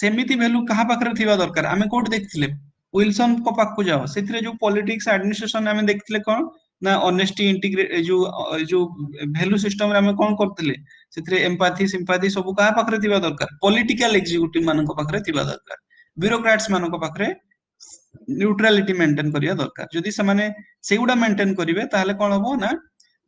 ସେମିତି ଭ୍ୟାଲ୍ୟୁ କାହା ପାଖରେ ଥିବା ଦରକାର? ଆମେ କୋଉଠି ଦେଖିଥିଲେ? ୱିଲସନଙ୍କ ପାଖକୁ ଯାଅ। ସେଥିରେ ଯୋଉ ପଲିଟିକ୍ସ ଆଡମିନିଷ୍ଟ୍ରେସନ ଆମେ ଦେଖିଥିଲେ କଣ ନା ଅନେଷ୍ଟି, ଇଣ୍ଟିଗ୍ରେ ଯୋଉ ଯୋଉ ଭ୍ୟାଲୁ ସିଷ୍ଟମରେ ଆମେ କଣ କରୁଥିଲେ? ସେଥିରେ ଏମ୍ପାଥି, ସିମ୍ପାଥି ସବୁ କାହା ପାଖରେ ଥିବା ଦରକାର? ପଲିଟିକାଲ ଏକ୍ଜିକ୍ୟୁଟିଭ ମାନଙ୍କ ପାଖରେ ଥିବା ଦରକାର। ବ୍ୟୁରୋକ୍ରାଟ୍ସ ମାନଙ୍କ ପାଖରେ ନ୍ୟୁଟ୍ରାଲିଟି ମେଣ୍ଟେନ କରିବା ଦରକାର। ଯଦି ସେମାନେ ସେଇଗୁଡା ମେଣ୍ଟେନ କରିବେ, ତାହେଲେ କଣ ହବ ନା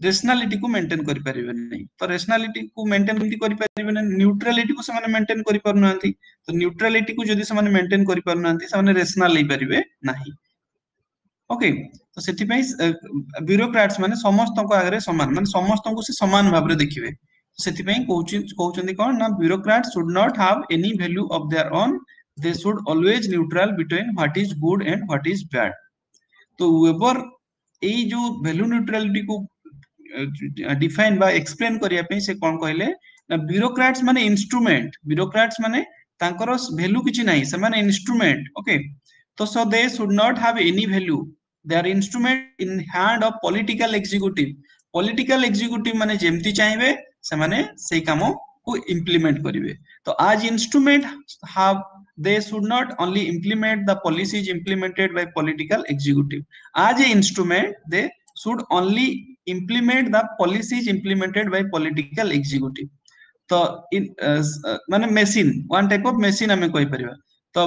ରେସନାଲିଟି କୁ ମେଣ୍ଟେନ କରିପାରିବେ ନାହିଁ। ତ ରେସନାଲିଟି କୁ ମେଣ୍ଟେନ କେମିତି କରିପାରିବେ ନା ନ୍ୟୁଟ୍ରାଲିଟି କୁ ସେମାନେ ମେଣ୍ଟେନ କରିପାରୁନାହାନ୍ତି। ତ ନ୍ୟୁଟ୍ରାଲିଟି କୁ ଯଦି ସେମାନେ ମେଣ୍ଟେନ କରିପାରୁନାହାନ୍ତି, ସେମାନେ ରେସନାଲ ହେଇପାରିବେ ନାହିଁ। ଓକେ, ତ ସେଥିପାଇଁ ବ୍ୟୁରୋକ୍ରାଟ୍ସ ମାନେ ସମସ୍ତଙ୍କ ଆଗରେ ସମାନ, ମାନେ ସମସ୍ତଙ୍କୁ ସେ ସମାନ ଭାବରେ ଦେଖିବେ। ସେଥିପାଇଁ କହୁଛି କହୁଛନ୍ତି କଣ ନା bureaucrat should not have any value of their own। They should always neutral between what is good and what is bad। ତ ୱେବର ଏଇ ଯୋଉ ଭ୍ୟାଲୁ ନ୍ୟୁଟ୍ରାଲିଟି କୁ ଡିଫାଇନ ବା ଏକ୍ସପ୍ଲେନ କରିବା ପାଇଁ ସେ କଣ କହିଲେ ନା ବ୍ୟୁରୋକ୍ରାଟ୍ସ ମାନେ ଇନଷ୍ଟ୍ରୁମେଣ୍ଟ। ବ୍ୟୁରୋକ୍ରାଟ୍ସ ମାନେ ତାଙ୍କର ଭ୍ୟାଲୁ କିଛି ନାହିଁ, ସେମାନେ ଇନଷ୍ଟ୍ରୁମେଣ୍ଟ। ଓକେ, ତ so they should not have any value। They are instrument in hand of political executive। Political executive ମାନେ ଯେମିତି ଚାହିଁବେ, ସେମାନେ ସେଇ କାମକୁ ଇମ୍ପ୍ଲିମେଣ୍ଟ କରିବେ। ତ as instrument have they should not only implement the policies implemented by political executive। As a instrument, they should only implement the policies implemented by political executive। ତ ମାନେ machine, one type of machine ଆମେ କହିପାରିବା। ତ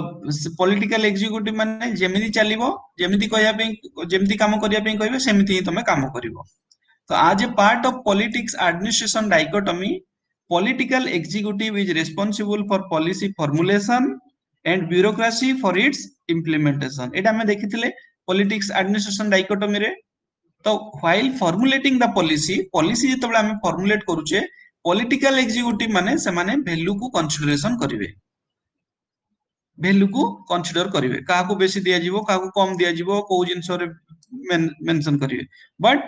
political executive ମାନେ ଯେମିତି ଚାଲିବ ଯେମିତି କହିବା ପାଇଁ ଯେମିତି କାମ କରିବା ପାଇଁ କହିବେ ସେମିତି ହିଁ ତମେ କାମ କରିବ ତ as a part of politics administration dichotomy political executive is responsible for policy formulation and bureaucracy for its implementation ଏଇଟା ଆମେ ଦେଖିଥିଲେ politics administration dichotomy ରେ ତ while formulating the policy policy ଯେତେବେଳେ ଆମେ formulate କରୁଛେ political executive ମାନେ ସେମାନେ value କୁ consideration କରିବେ ଭ୍ୟାଲୁ କୁ କନସିଡର କରିବେ କାହାକୁ ବେଶୀ ଦିଆଯିବ କାହାକୁ କମ ଦିଆଯିବ କୋଉ ଜିନିଷରେ ମେନସନ କରିବେ ବଟ୍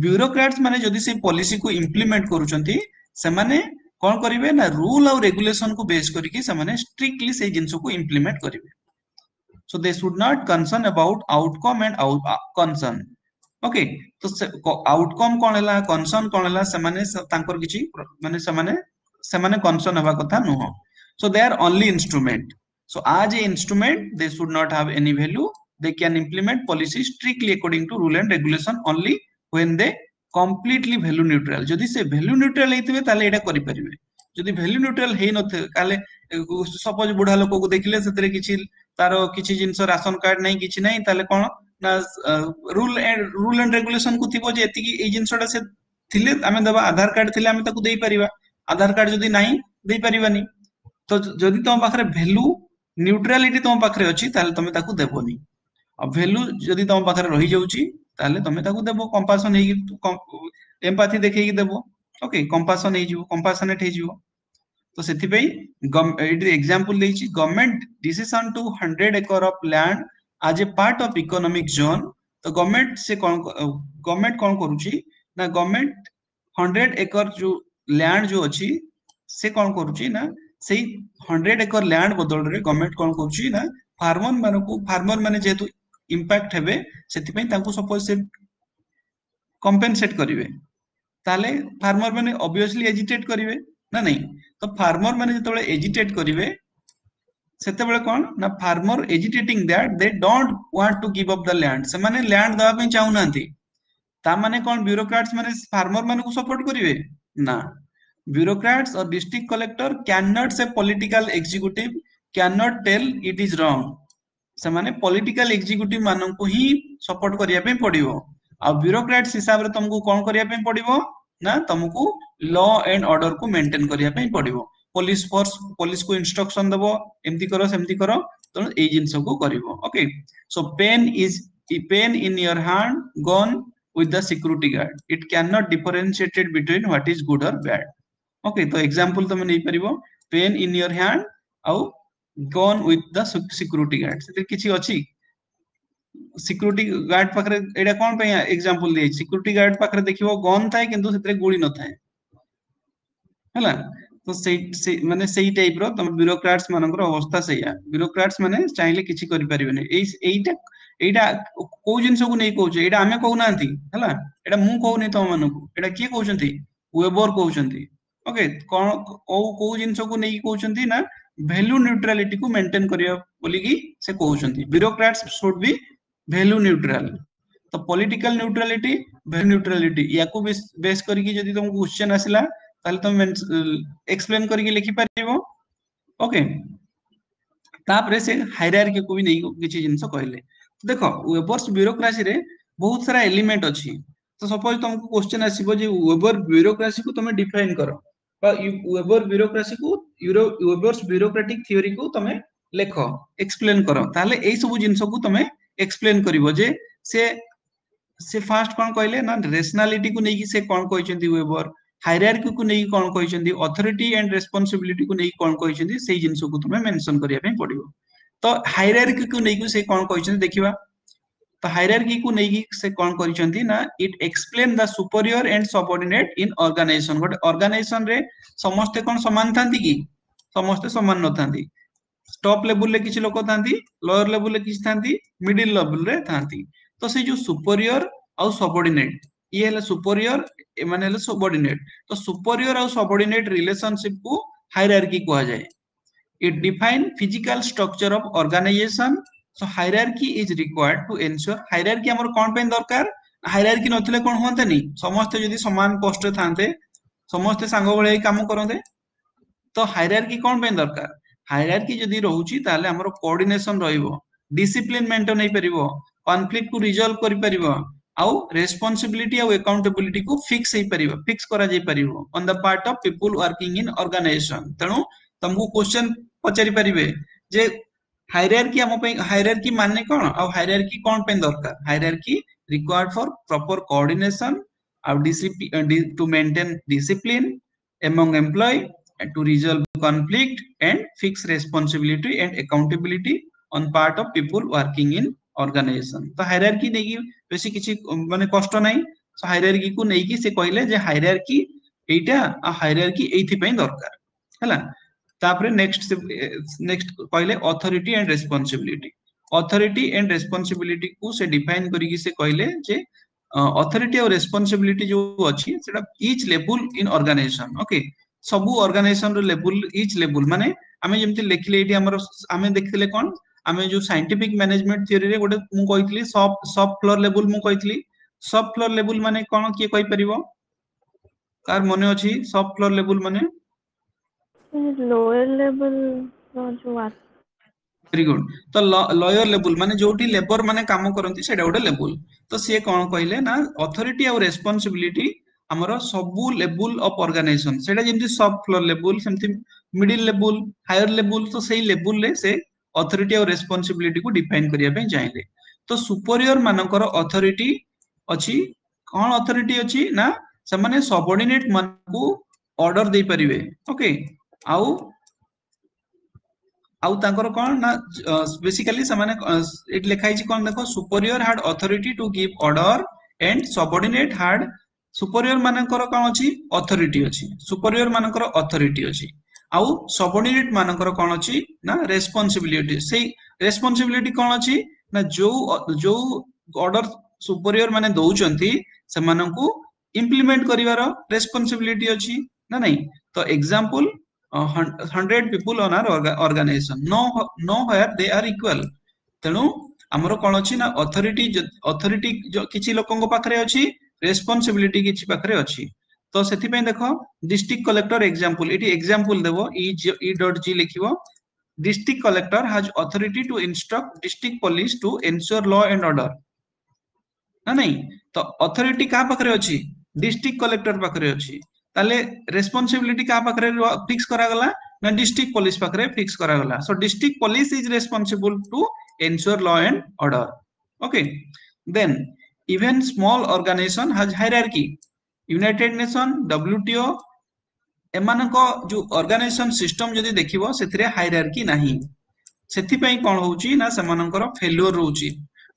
ବ୍ୟୁରୋକ୍ରାଟ୍ସ ମାନେ ଯଦି ସେଇ ପଲିସିକୁ ଇମ୍ପ୍ଲିମେଣ୍ଟ କରୁଛନ୍ତି ସେମାନେ କଣ କରିବେ ନା ରୁଲ ଆଉ ରେଗୁଲେସନ କୁ ବେସ୍ କରିକି ସେମାନେ ଷ୍ଟ୍ରିକ୍ଟଲି ସେଇ ଜିନିଷକୁ ଇମ୍ପ୍ଲିମେଣ୍ଟ କରିବେ so they should not concern about outcome and out, uh, concern okay ତ ଆଉଟକମ୍ କଣ ହେଲା କନସର୍ନ କଣ ହେଲା ସେମାନେ ତାଙ୍କର କିଛି ମାନେ ସେମାନେ ସେମାନେ କନସର୍ନ ହେବା କଥା ନୁହଁ so they are only instrument so as a instrument they should not have any value they can implement policy strictly according to rule and regulation only when they completely value neutral ଯଦି ସେ value neutral ହେଇଥିବେ ତାହେଲେ ଏଇଟା କରିପାରିବେ ଯଦି value neutral ହେଇନଥିବେ ତାହେଲେ suppose ବୁଢା ଲୋକକୁ ଦେଖିଲେ ସେଥିରେ କିଛି ତାର କିଛି ଜିନିଷ ରାସନ କାର୍ଡ ନାହିଁ କିଛି ନାହିଁ ତାହେଲେ କଣ ନା ରୁଲ ରୁଲ ଆଣ୍ଡ ରେଗୁଲେସନ କୁ ଥିବ ଯେ ଏତିକି ଏଇ ଜିନିଷଟା ସେ ଥିଲେ ଆମେ ଦେବା ଆଧାର କାର୍ଡ ଥିଲେ ଆମେ ତାକୁ ଦେଇପାରିବା ଆଧାର କାର୍ଡ ଯଦି ନାହିଁ ଦେଇପାରିବାନି ତ ଯଦି ତମ ପାଖରେ ଭ୍ୟାଲୁ ନ୍ୟୁଟ୍ରାଲିଟି ତମ ପାଖରେ ଅଛି ତାହେଲେ ତମେ ତାକୁ ଦେବନି ଆଉ ଭ୍ୟାଲୁ ଯଦି ତମ ପାଖରେ ରହିଯାଉଛି ତାହେଲେ ତମେ ତାକୁ ଦେବ କମ୍ପାସନ ହେଇକି ଏମ୍ପାଥି ଦେଖେଇକି ଦେବ ଓକେ କମ୍ପାସନ ହେଇଯିବ କମ୍ପାସନେଟ ହେଇଯିବ ତ ସେଥିପାଇଁ ଏଇଠି ଏକ୍ସାମ୍ପଲ ଦେଇଛି government decision to hundred acre of land as a part of economic zone ତ ଗଭର୍ଣ୍ଣମେଣ୍ଟ ସେ କଣ ଗଭର୍ଣ୍ଣମେଣ୍ଟ କଣ କରୁଛି ନା ଗଭର୍ଣ୍ଣମେଣ୍ଟ ହଣ୍ଡ୍ରେଡ ଏକର ଯୋଉ ଲ୍ୟାଣ୍ଡ ଯୋଉ ଅଛି ସେ କଣ କରୁଛି ନା ସେଇ ହଣ୍ଡ୍ରେଡ ଏକର ଲ୍ୟାଣ୍ଡ ବଦଳରେ ଗଭର୍ଣ୍ଣମେଣ୍ଟ କଣ କରୁଛି ନା ଫାର୍ମର ମାନଙ୍କୁ ଫାର୍ମର ମାନେ ଯେହେତୁ ଇମ୍ପାକ୍ଟ ହେବେ ସେଥିପାଇଁ ତାଙ୍କୁ ସପୋଜ ସେ କମ୍ପେନସେଟ କରିବେ ତାହେଲେ ଫାର୍ମର ମାନେ ଅବଭିୟସଲି ଏଜିଟେଟ କରିବେ ନା ନାଇଁ ତ ଫାର୍ମର ମାନେ ଯେତେବେଳେ ଏଜିଟେଟ କରିବେ ସେତେବେଳେ କଣ ନା farmer agitating that they don't want to give up the land ସେମାନେ ଲ୍ୟାଣ୍ଡ ଦେବା ପାଇଁ ଚାହୁଁନାହାନ୍ତି ତା ମାନେ କଣ ବ୍ୟୁରୋକ୍ରାଟ୍ସ ମାନେ ଫାର୍ମର ମାନଙ୍କୁ ସପୋର୍ଟ କରିବେ ନା bureaucrats or district collector cannot say political executive cannot tell it is wrong ସେମାନେ ପଲିଟିକାଲ ଏକ୍ଜିକ୍ୟୁଟିଭ ମାନଙ୍କୁ ହିଁ ସପୋର୍ଟ କରିବା ପାଇଁ ପଡିବ ଆଉ ବ୍ୟୁରୋକ୍ରାଟ୍ସ ହିସାବରେ ତମକୁ କଣ କରିବା ପାଇଁ ପଡିବ ନା ତମକୁ ଲ ଆଣ୍ଡ ଅର୍ଡର କୁ ମେଣ୍ଟେନ କରିବା ପାଇଁ ପଡିବ ପୋଲିସ ଫୋର୍ସ ପୋଲିସକୁ ଇନଷ୍ଟ୍ରକ୍ସନ ଦବ ଏମିତି କର ସେମିତି କର ତେଣୁ ଏଇ ଜିନିଷକୁ କରିବ okay so pen is pen in your hand gun with the security guard it cannot differentiated between what is good or bad okay ତ ଏକ୍ସାମ୍ପଲ ତମେ ନେଇପାରିବ ପେନ୍ ଇନ୍ your hand ଆଉ gun with the security guard ସେଥିରେ କିଛି ଅଛି security guard ପାଖରେ ଏଇଟା କଣ ପାଇଁ ଏକ୍ସାମ୍ପଲ ଦିଆଯାଇଛି ସିକ୍ୟୁରିଟି ଗାର୍ଡ ପାଖରେ ଦେଖିବ ଗନ୍ ଥାଏ କିନ୍ତୁ ସେଥିରେ ଗୁଳି ନଥାଏ ହେଲା ତ ସେଇ ସେଇ ମାନେ ସେଇ ଟାଇପ ର ତମ ବ୍ୟୁରୋକ୍ରାଟ୍ସ ମାନଙ୍କର ଅବସ୍ଥା ସେଇଆ ବ୍ୟୁରୋକ୍ରାଟ୍ସ ମାନେ ଚାହିଁଲେ କିଛି କରିପାରିବେନି ଏଇ ଏଇଟା ଏଇଟା କୋଉ ଜିନିଷକୁ ନେଇ କହୁଛେ ଏଇଟା ଆମେ କହୁନାହାନ୍ତି ହେଲା ଏଇଟା ମୁଁ କହୁନି ତମ ମାନଙ୍କୁ ଏଇଟା କିଏ କହୁଛନ୍ତି ୱେବର କହୁଛନ୍ତି ଓକେ କଣ କୋଉ କୋଉ ଜିନିଷକୁ ନେଇକି କହୁଛନ୍ତି ନା ଭ୍ୟାଲୁ ନ୍ୟୁଟ୍ରାଲିଟିକୁ ମେଣ୍ଟେନ କରିବା ବୋଲିକି ସେ କହୁଛନ୍ତି bureaucrats should be value neutral ତ ପଲିଟିକାଲ ନ୍ୟୁଟ୍ରାଲିଟି ଭ୍ୟାଲୁ ନ୍ୟୁଟ୍ରାଲିଟି ୟାକୁ ବେସ୍ କରିକି ଯଦି ତମକୁ କ୍ୱେଶ୍ଚନ ଆସିଲା ତାହେଲେ ତମେ ଏକ୍ସପ୍ଲେନ କରିକି ଲେଖିପାରିବ ଓକେ ତାପରେ ସେ ହାଇରାର୍କିକୁ ବି ନେଇକି କିଛି ଜିନିଷ କହିଲେ ଦେଖ ୱେବର୍ସ ବ୍ୟୁରୋକ୍ରାସିରେ ବହୁତ ସାରା ଏଲିମେଣ୍ଟ ଅଛି ତ ସପୋଜ ତମକୁ କ୍ୱେଶ୍ଚନ ଆସିବ ଯେ ୱେବର ବ୍ୟୁରୋକ୍ରାସିକୁ ତମେ ଡିଫାଇନ କର ବା ୱେବର ବ୍ୟୁରୋକ୍ରାସିକୁ ୱେବର୍ସ ବ୍ୟୁରୋକ୍ରାଟିକ ଥିଓରିକୁ ତମେ ଲେଖ ଏକ୍ସପ୍ଲେନ କର ତାହେଲେ ଏଇ ସବୁ ଜିନିଷକୁ ତମେ ଏକ୍ସପ୍ଲେନ କରିବ ଯେ ସେ ସେ ଫାଷ୍ଟ କଣ କହିଲେ ନା ରେସନାଲିଟିକୁ ନେଇକି ସେ କଣ କହିଛନ୍ତି ୱେବର ହାଇରାର୍କିକୁ ନେଇକି କଣ କହିଛନ୍ତି ଅଥରିଟି ଆଣ୍ଡ ରେସ୍ପନ୍ସିବିଲିଟିକୁ ନେଇକି କଣ କହିଛନ୍ତି ସେଇ ଜିନିଷକୁ ତମେ ମେନସନ କରିବା ପାଇଁ ପଡିବ ତ ହାଇରାର୍କିକୁ ନେଇକି ସେ କଣ କହିଛନ୍ତି ଦେଖିବା ତ ହାଇରାର୍କିକୁ ନେଇକି ସେ କଣ କରିଛନ୍ତି ନା it explain the superior and subordinate in organization ଗୋଟେ ଅର୍ଗାନାଇଜେସନ ରେ ସମସ୍ତେ କଣ ସମାନ ଥାନ୍ତି କି ସମସ୍ତେ ସମାନ ନଥାନ୍ତି ଟପ୍ ଲେବୁଲରେ କିଛି ଲୋକ ଥାନ୍ତି ଲୋୟର ଲେବୁଲରେ କିଛି ଥାନ୍ତି ମିଡିଲ ଲେବୁଲରେ ଥାନ୍ତି ତ ସେଇ ଯୋଉ ସୁପରିୟର ଆଉ ସବଅର୍ଡିନେଟ ଇଏ ହେଲେ ସୁପରିୟର ଏମାନେ ହେଲେ ସବଅର୍ଡିନେଟ ତ ସୁପରିୟର ଆଉ ସବଅର୍ଡିନେଟ ରିଲେସନସିପ କୁ ହାଇରାର୍କି କୁହାଯାଏ it define physical structure of organization so hierarchy is required to ensure hierarchy ଆମର କଣ ପାଇଁ ଦରକାର ହାଇରାର୍କି ନଥିଲେ କଣ ହୁଅନ୍ତାନି ସମସ୍ତେ ଯଦି ସମାନ ପୋଷ୍ଟରେ ଥାନ୍ତେ ସମସ୍ତେ ସାଙ୍ଗ ଭଳିଆ ହେଇ କାମ କରନ୍ତେ ତ ହାଇରାର୍କି କଣ ପାଇଁ ଦରକାର ହାଇରାର୍କି ଯଦି ରହୁଛି ତାହେଲେ ଆମର କୋଅର୍ଡିନେସନ ରହିବ ଡିସିପ୍ଲିନ ମେଣ୍ଟେନ ହେଇପାରିବ କନଫ୍ଲିକ୍ଟ କୁ ରିଜଲ୍ଭ କରିପାରିବ ଆଉ ରେସ୍ପନ୍ସିବିଲିଟି ଆଉ ଆକାଉଣ୍ଟେବିଲିଟି କୁ ଫିକ୍ସ ହେଇପାରିବ ଫିକ୍ସ କରାଯାଇ ପାରିବ on the part of people working in organization ତେଣୁ ତମକୁ କ୍ୱେଶ୍ଚନ ପଚାରି ପାରିବେ ଯେ ହାଇରାର୍କି ଆମ ପାଇଁ ହାଇରାର୍କି ମାନେ କଣ ଆଉ ହାଇରାର୍କି କଣ ପାଇଁ ଦରକାର hierarchy required for proper coordination ଆଉ to maintain discipline among employee and to resolve conflict and fix responsibility and accountability on part of people working in organization ତ ହାଇରାର୍କି ନେଇକି ବେଶୀ କିଛି ମାନେ କଷ୍ଟ ନାହିଁ ହାଇରାର୍କି କୁ ନେଇକି ସେ କହିଲେ ଯେ ହାଇରାର୍କି ଏଇଟା ଆଉ ହାଇରାର୍କି ଏଇଥିପାଇଁ ଦରକାର ହେଲା ତାପରେ ନେକ୍ସଟ ନେକ୍ସଟ କହିଲେ authority and responsibility authority and responsibility କୁ ସେ ଡିଫାଇନ କରିକି ସେ କହିଲେ ଯେ ଅଥରିଟି ଆଉ ରେସ୍ପନ୍ସିବିଲିଟି ଯୋଉ ଅଛି ସେଟା each level in organization okay ସବୁ ଅର୍ଗାନାଇଜେସନ ର ଲେବୁଲ ଇଚ୍ ଲେବୁଲ ମାନେ ଆମେ ଯେମିତି ଲେଖିଲେ ଏଇଠି ଆମର ଆମେ ଦେଖିଥିଲେ କଣ ଆମେ ଯୋଉ ସାଇଣ୍ଟିଫିକ ମ୍ୟାନେଜମେଣ୍ଟ ଥିଓରିରେ ଗୋଟେ ମୁଁ କହିଥିଲି ସବ୍ ସବ୍ ଫ୍ଲୋର ଲେବୁଲ ମୁଁ କହିଥିଲି ସବ୍ ଫ୍ଲୋର ଲେବୁଲ ମାନେ କଣ କିଏ କହିପାରିବ କାହାର ମନେ ଅଛି ସବ୍ ଫ୍ଲୋର ଲେବୁଲ ମାନେ ଲୋୟର ଲେବଲ ର ଯୋଉ ଭେରି ଗୁଡ ତ ଲୋୟର ଲେବୁଲ ମାନେ ଯୋଉଠି ଲେବର ମାନେ କାମ କରନ୍ତି ସେଇଟା ଗୋଟେ ଲେବୁଲ ତ ସିଏ କଣ କହିଲେ ନା ଅଥରିଟି ଆଉ ରେସ୍ପନ୍ସିବିଲିଟି ଆମର ସବୁ ଲେବୁଲ ଅଫ ଅର୍ଗାନାଇଜେସନ ସେଇଟା ଯେମିତି ସବ୍ ଫ୍ଲୋର ଲେବୁଲ ସେମିତି ମିଡିଲ ଲେବୁଲ ହାୟର ଲେବୁଲ ତ ସେଇ ଲେବୁଲରେ ସେ ଅଥରିଟି ଆଉ ରେସ୍ପନ୍ସିବିଲିଟି କୁ ଡିଫାଇନ କରିବା ପାଇଁ ଚାହିଁଲେ ତ ସୁପରିୟର ମାନଙ୍କର ଅଥରିଟି ଅଛି କଣ ଅଥରିଟି ଅଛି ନା ସେମାନେ ସବଅର୍ଡିନେଟ ମାନଙ୍କୁ ଅର୍ଡର ଦେଇପାରିବେ ଓକେ ଆଉ ଆଉ ତାଙ୍କର କଣ ନା ବେସିକାଲି ସେମାନେ ଏଠି ଲେଖା ହେଇଛି କଣ ଦେଖ superior had authority to give order and subordinate had superior ମାନଙ୍କର କଣ ଅଛି ଅଥରିଟି ଅଛି ସୁପରିୟର ମାନଙ୍କର ଅଥରିଟି ଅଛି ଆଉ ସବଅର୍ଡିନେଟ ମାନଙ୍କର କଣ ଅଛି ନା ରେସ୍ପନ୍ସିବିଲିଟି ସେଇ ରେସ୍ପନ୍ସିବିଲିଟି କଣ ଅଛି ନା ଯୋଉ ଯୋଉ ଅର୍ଡର ସୁପରିୟର ମାନେ ଦଉଛନ୍ତି ସେମାନଙ୍କୁ ଇମ୍ପ୍ଲିମେଣ୍ଟ କରିବାର ରେସ୍ପନ୍ସିବିଲିଟି ଅଛି ନା ନାଇଁ ତ example hundred people on our organization no nowhere they are equal ତେଣୁ ଆମର କଣ ଅଛି ନା ଅଥରିଟି ଅଥରିଟି କିଛି ଲୋକଙ୍କ ପାଖରେ ଅଛି ରେସ୍ପନ୍ସିବିଲିଟି କିଛି ପାଖରେ ଅଛି ତ ସେଥିପାଇଁ ଦେଖ ଡିଷ୍ଟ୍ରିକ୍ଟ କଲେକ୍ଟର ଏକ୍ସାମ୍ପଲ ଏଠି ଏକ୍ସାମ୍ପଲ ଦେବ ଇ ଇ ଡଟ୍ ଜି ଲେଖିବ district collector has authority to instruct district police to ensure law and order ନା ନାଇଁ ତ ଅଥରିଟି କାହା ପାଖରେ ଅଛି ଡିଷ୍ଟ୍ରିକ୍ଟ କଲେକ୍ଟର ପାଖରେ ଅଛି ତାହେଲେ ରେସ୍ପନ୍ସିବିଲିଟି କାହା ପାଖରେ ଫିକ୍ସ କରାଗଲା ନା ଡିଷ୍ଟ୍ରିକ୍ଟ ପୋଲିସ ପାଖରେ ଫିକ୍ସ କରାଗଲା so district police is responsible to ensure law and order okay then even small organization has hierarchy United Nation WTO ଏମାନଙ୍କ ଯୋଉ ଅର୍ଗାନାଇଜେସନ ସିଷ୍ଟମ ଯଦି ଦେଖିବ ସେଥିରେ ହାଇରାର୍କି ନାହିଁ ସେଥିପାଇଁ କଣ ହଉଛି ନା ସେମାନଙ୍କର ଫେଲୁଅର ରହୁଛି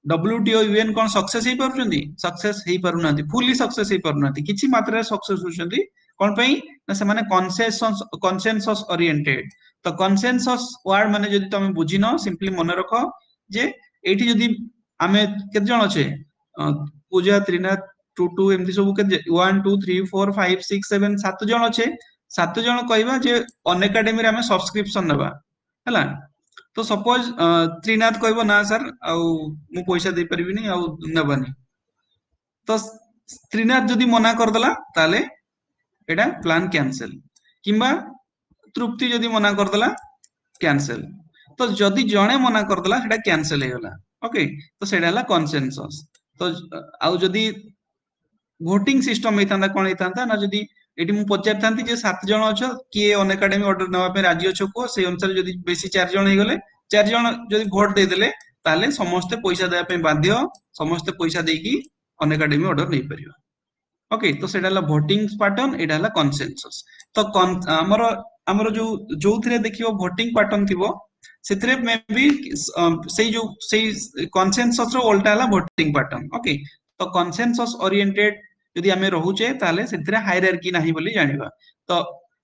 ଡବ୍ଲ୍ୟୁଟିଓ ୟୁଏନ କଣ ସକ୍ସେସ ହେଇପାରୁଛନ୍ତି ସକ୍ସେସ ହେଇପାରୁନାହାନ୍ତି ଫୁଲି ସକ୍ସେସ ହେଇପାରୁନାହାନ୍ତି କିଛି ମାତ୍ରାରେ ସକ୍ସେସ ହଉଛନ୍ତି କଣ ପାଇଁ ନା ସେମାନେ କନସେନସସ୍ କନସେନସସ୍ ଓରିଏଣ୍ଟେଡ ତ କନସେନସସ୍ ୱାର୍ଡ ମାନେ ଯଦି ତମେ ବୁଝିନ ସିମ୍ପଲି ମନେ ରଖ ଯେ ଏଇଠି ଯଦି ଆମେ କେତେ ଜଣ ଅଛେ ପୂଜା ତ୍ରିନାଥ ଟୁ ଟୁ ଏମିତି ସବୁ କେତେ one two three four five six seven ସାତ ଜଣ ଅଛେ ସାତ ଜଣ କହିବା ଯେ ଅନଏକାଡେମୀରେ ଆମେ ସବସ୍କ୍ରିପସନ ନେବା ହେଲା ତ ସପୋଜ ତ୍ରିନାଥ କହିବ ନା ସାର୍ ଆଉ ମୁଁ ପଇସା ଦେଇପାରିବିନି ଆଉ ନେବାନି ତ ତ୍ରିନାଥ ଯଦି ମନା କରିଦେଲା ତାହେଲେ ଏଇଟା ପ୍ଲାନ୍ କ୍ୟାନସେଲ କିମ୍ବା ତୃପ୍ତି ଯଦି ମନା କରିଦେଲା କ୍ୟାନସେଲ ତ ଯଦି ଜଣେ ମନା କରିଦେଲା ସେଟା କ୍ୟାନସେଲ ହେଇଗଲା ଓକେ ତ ସେଇଟା ହେଲା କନସେନସସ୍ ତ ଆଉ ଯଦି ଭୋଟିଂ ସିଷ୍ଟମ ହେଇଥାନ୍ତା କଣ ହେଇଥାନ୍ତା ନା ଯଦି ଏଠି ମୁଁ ପଚାରିଥାନ୍ତି ଯେ ସାତ ଜଣ ଅଛ କିଏ ଅନଏକାଡେମୀ ଅର୍ଡର ନେବା ପାଇଁ ରାଜି ଅଛ କୁହ ସେଇ ଅନୁସାରେ ଯଦି ବେଶୀ ଚାରି ଜଣ ହେଇଗଲେ ଚାରି ଜଣ ଯଦି ଭୋଟ ଦେଇଦେଲେ ତାହେଲେ ସମସ୍ତେ ପଇସା ଦେବା ପାଇଁ ବାଧ୍ୟ ସମସ୍ତେ ପଇସା ଦେଇକି ଅନଏକାଡେମୀ ଅର୍ଡର ନେଇପାରିବା ଓକେ ତ ସେଇଟା ହେଲା ଭୋଟିଂ ପାଟର୍ନ ଏଇଟା ହେଲା କନସେନସସ୍ ତ ଆମର ଆମର ଯୋଉ ଯୋଉଥିରେ ଦେଖିବ ଭୋଟିଂ ପାଟର୍ନ ଥିବ ସେଥିରେ ମେ ବି ସେଇ ଯୋଉ ସେଇ କନସେନସସ୍ ର ଓଲଟା ହେଲା ଭୋଟିଂ ପାଟର୍ନ ଓକେ ତ କନସେନସସ୍ ଓରିଏଣ୍ଟେଡ ଯଦି ଆମେ ରହୁଛେ ତାହେଲେ ସେଥିରେ ହାଇରାର୍କି ନାହିଁ ବୋଲି ଜାଣିବା ତ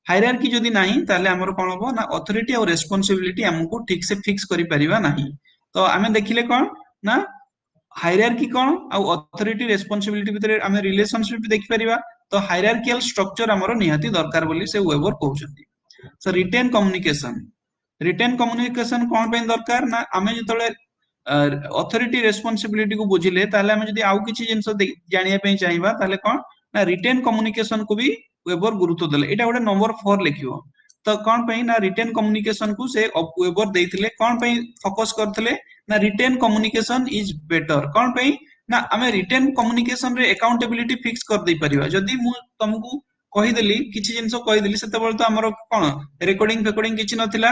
ହାଇରାର୍କି ଯଦି ନାହିଁ ତାହେଲେ ଆମର କଣ ହବ ନା ଅଥରିଟି ଆଉ ରେସ୍ପନ୍ସିବିଲିଟି ଆମକୁ ଠିକ ସେ ଫିକ୍ସ କରିପାରିବା ନାହିଁ ତ ଆମେ ଦେଖିଲେ କଣ ନା ହାଇରାର୍କି କଣ ଆଉ ଅଥରିଟି ରେସ୍ପନ୍ସିବିଲିଟି ଭିତରେ ଆମେ ରିଲେସନସିପ ଦେଖିପାରିବା ତ ହାଇରାର୍କିଆଲ ଷ୍ଟ୍ରକ୍ଚର ଆମର ନିହାତି ଦରକାର ବୋଲି ସେ ୱେବର କହୁଛନ୍ତି show retain communication retain communication କଣ ପାଇଁ ଦରକାର ନା ଆମେ ଯେତେବେଳେ ଅଥରିଟି ରେସ୍ପନ୍ସିବିଲିଟି କୁ ବୁଝିଲେ ତାହେଲେ ଆମେ ଯଦି ଆଉ କିଛି ଜିନିଷ ଜାଣିବା ପାଇଁ ଚାହିଁବା ତାହେଲେ କଣ ନା ରିଟେନ୍ କମ୍ୟୁନିକେସନ କୁ ବି ୱେବର ଗୁରୁତ୍ୱ ଦେଲେ ଏଇଟା ଗୋଟେ ନମ୍ବର ଫୋର ଲେଖିବ ତ କଣ ପାଇଁ ନା ରିଟେନ୍ କମ୍ୟୁନିକେସନ କୁ ସେ ୱେବର ଦେଇଥିଲେ କଣ ପାଇଁ ଫୋକସ କରିଥିଲେ ନା ରିଟେନ୍ କମ୍ୟୁନିକେସନ is better କଣ ପାଇଁ ନା ଆମେ ରିଟେନ୍ କମ୍ୟୁନିକେସନ ରେ ଆକାଉଣ୍ଟେବିଲିଟି ଫିକ୍ସ କରିଦେଇ ପାରିବା ଯଦି ମୁଁ ତମକୁ କହିଦେଲି କିଛି ଜିନିଷ କହିଦେଲି ସେତେବେଳେ ତ ଆମର କଣ ରେକର୍ଡିଂ ଫେକର୍ଡିଂ କିଛି ନଥିଲା